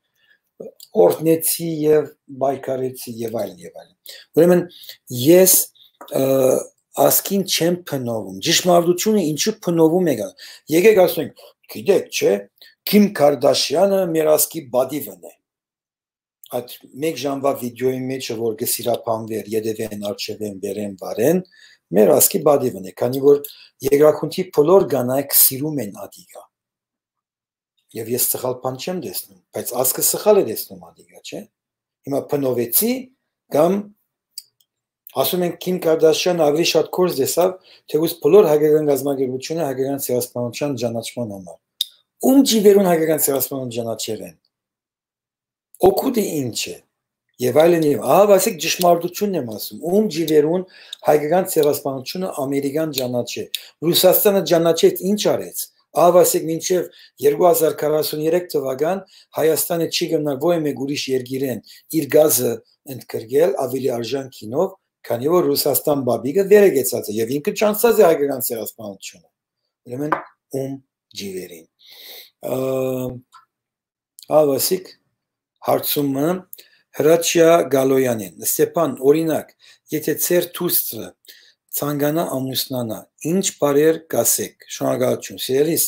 Օրհնեցի եւ պայքարեցի եւ այլն, եւ այլն։ Ուրեմն ես, ը, ասկին չեմ փնովում։ Ճշմարտությունը ինչու փնովում եք, ա-, եկեք ասենք, գիտեք, չէ, Քիմ Քարդաշյանը մեր ասկի պատիվն է։ Այդ մեկ ժամվա վիդեոյի մէջը, որ կը սիրափանուէր, ետեւէն, առջեւէն, վերէն, վարէն, մեր ասկի պատիվն է, քանի որ երկրագունդի բոլոր կանայք սիրում են ադիգա։ Եւ ես սխալ բան չեմ տեսնում, բայց ասկը սխալ է տեսնում ադիգա, չէ՞։ Հիմա փնովեցի կամ ասում ենք, Քիմ Կարդաշյանը ավելի շատ կորս տեսավ, թէ ուզ բոլոր հայկական գազམ-ակերպությունը հայկական ցեղասպանության ճանաչման համար։ Ում ջիվերուն հայկական ցեղասպանություն ճանաչեր են։ Օգուտը ինչ է։ Եւ այլն, եւ ահա, ասեք, ճշմարտությունն եմ ասում, ում ջիվերուն հայկական ցեղասպանությունը ամերիկան ճանաչէ։ Ռուսաստանը ճանաչեց, ինչ արեց։ Ահա, ասեք, մինչեւ երկու հազար քառասուն երեք թվական Հայաստանը չի գնար որեւէ մեկ ուրիշ երկիրեն իր գազը ընդգրկել ավելի արժան գինով, քանի որ Ռուսաստան բաբիկը վեր է գեցած է եւ ինքը ճանչցած է հայկական ցեղասպանությունը։ Ուրեմն ում ջիվերին։ Ա, Ահա, ասիկ, հարցումը Հրաչյա Գալոյանին։ Ստեփան, օրինակ, եթե ձեր դուստրը ցանկանայ ամուսնանայ, ինչ բառեր կ'ասէք։ Շնորհակալություն, սիրելիս,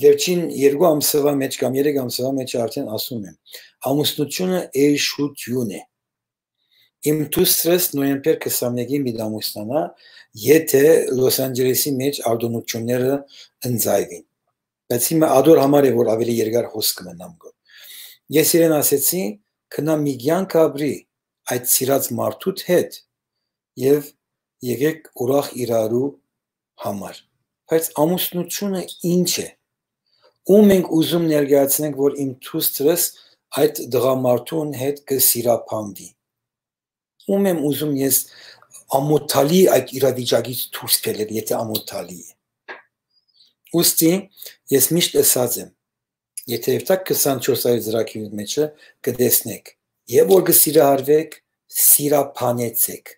վերջին երկու ամսվա մէջ կամ երեք ամսվա մէջ արդեն ասում եմ, ամուսնությունը էշութիւն է։ Իմ դուստրս նոյեմբեր քսանմէկին պիտի ամուսնանայ, եթե Լոս Անջելեսի մէջ արտօնութիւնները ընծայուին։ Բայց հիմա ադոր համար է, որ ավելի երկար հոսք մնամ գոր։ Ես իրեն ասեցի, «Գնա մի կեանք ապրի այդ սիրած մարդուդ հետ եւ եկեք ուրախ իրարու համար»։ Բայց ամուսնությունը ինչ է։ Ո՞ւմ ենք ուզում ներկայացնենք, որ իմ դուստրս այդ տղամարդուն հետ կը սիրափանվի։ Ո՞ւմ եմ ուզում ես ամոթալի այդ իրավիճակից դուրս գելել, եթե ամոթալի է։ Ուստի ես միշտ ըսած եմ, եթե երթակ քսանչորս այլ ծրագիրի մեջը կտեսնեք, եւ որ կը սիրահարվեք, սիրափանեցեք։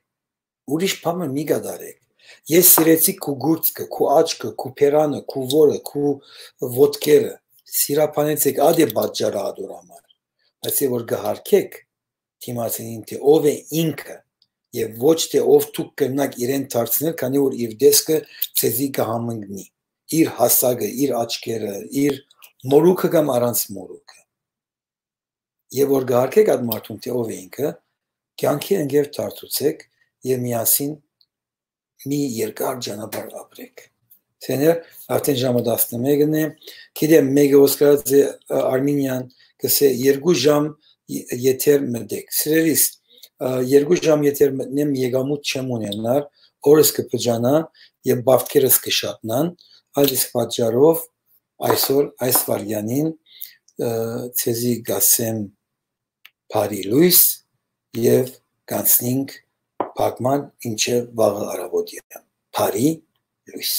Ուրիշ բան մը մի կատարեք։ Ես սիրեցի քու գուրծքը, քու աչքը, քու բերանը, քու որը, քու ոտքերը։ Սիրափանեցեք, ադե պատճառը ադոր համար։ Բայց է որ կհարկեք, դիմացինին, թէ ով է ինքը, եւ ոչ թէ ով դուք կրնաք իրեն դարձնել, քանի որ իր տեսքը ձեզի կհամընկնի, իր հասակը, իր աչքերը, իր մորուքը կամ առանց մորուքը։ Եւ որ կհարկեք այդ մարդուն, թէ ով է ինքը, կեանքի ընկեր դարձուցեք եւ միասին մի երկար ճանապարհ ապրեք։ Սեներ, արդեն ժամը տասնմեկն է։ Գիտեմ, մեկը Օսկարաձե, ը, Արմինյան կսե երկու ժամ ե-, եթեր մտեք։ Սիրելիս, ը, երկու ժամ եթեր մտնեմ, եկամուտ չեմ ունենար, օրս կը փճանա եւ բարդքերս կը շատնան, այդ իսկ պատճառով այսօր, այս վայրկյանին, ը, ձեզի կ'ասեմ բարի լոյս եւ կանցնենք փակման, մինչեւ վաղը առավոտեան։ Բարի լոյս։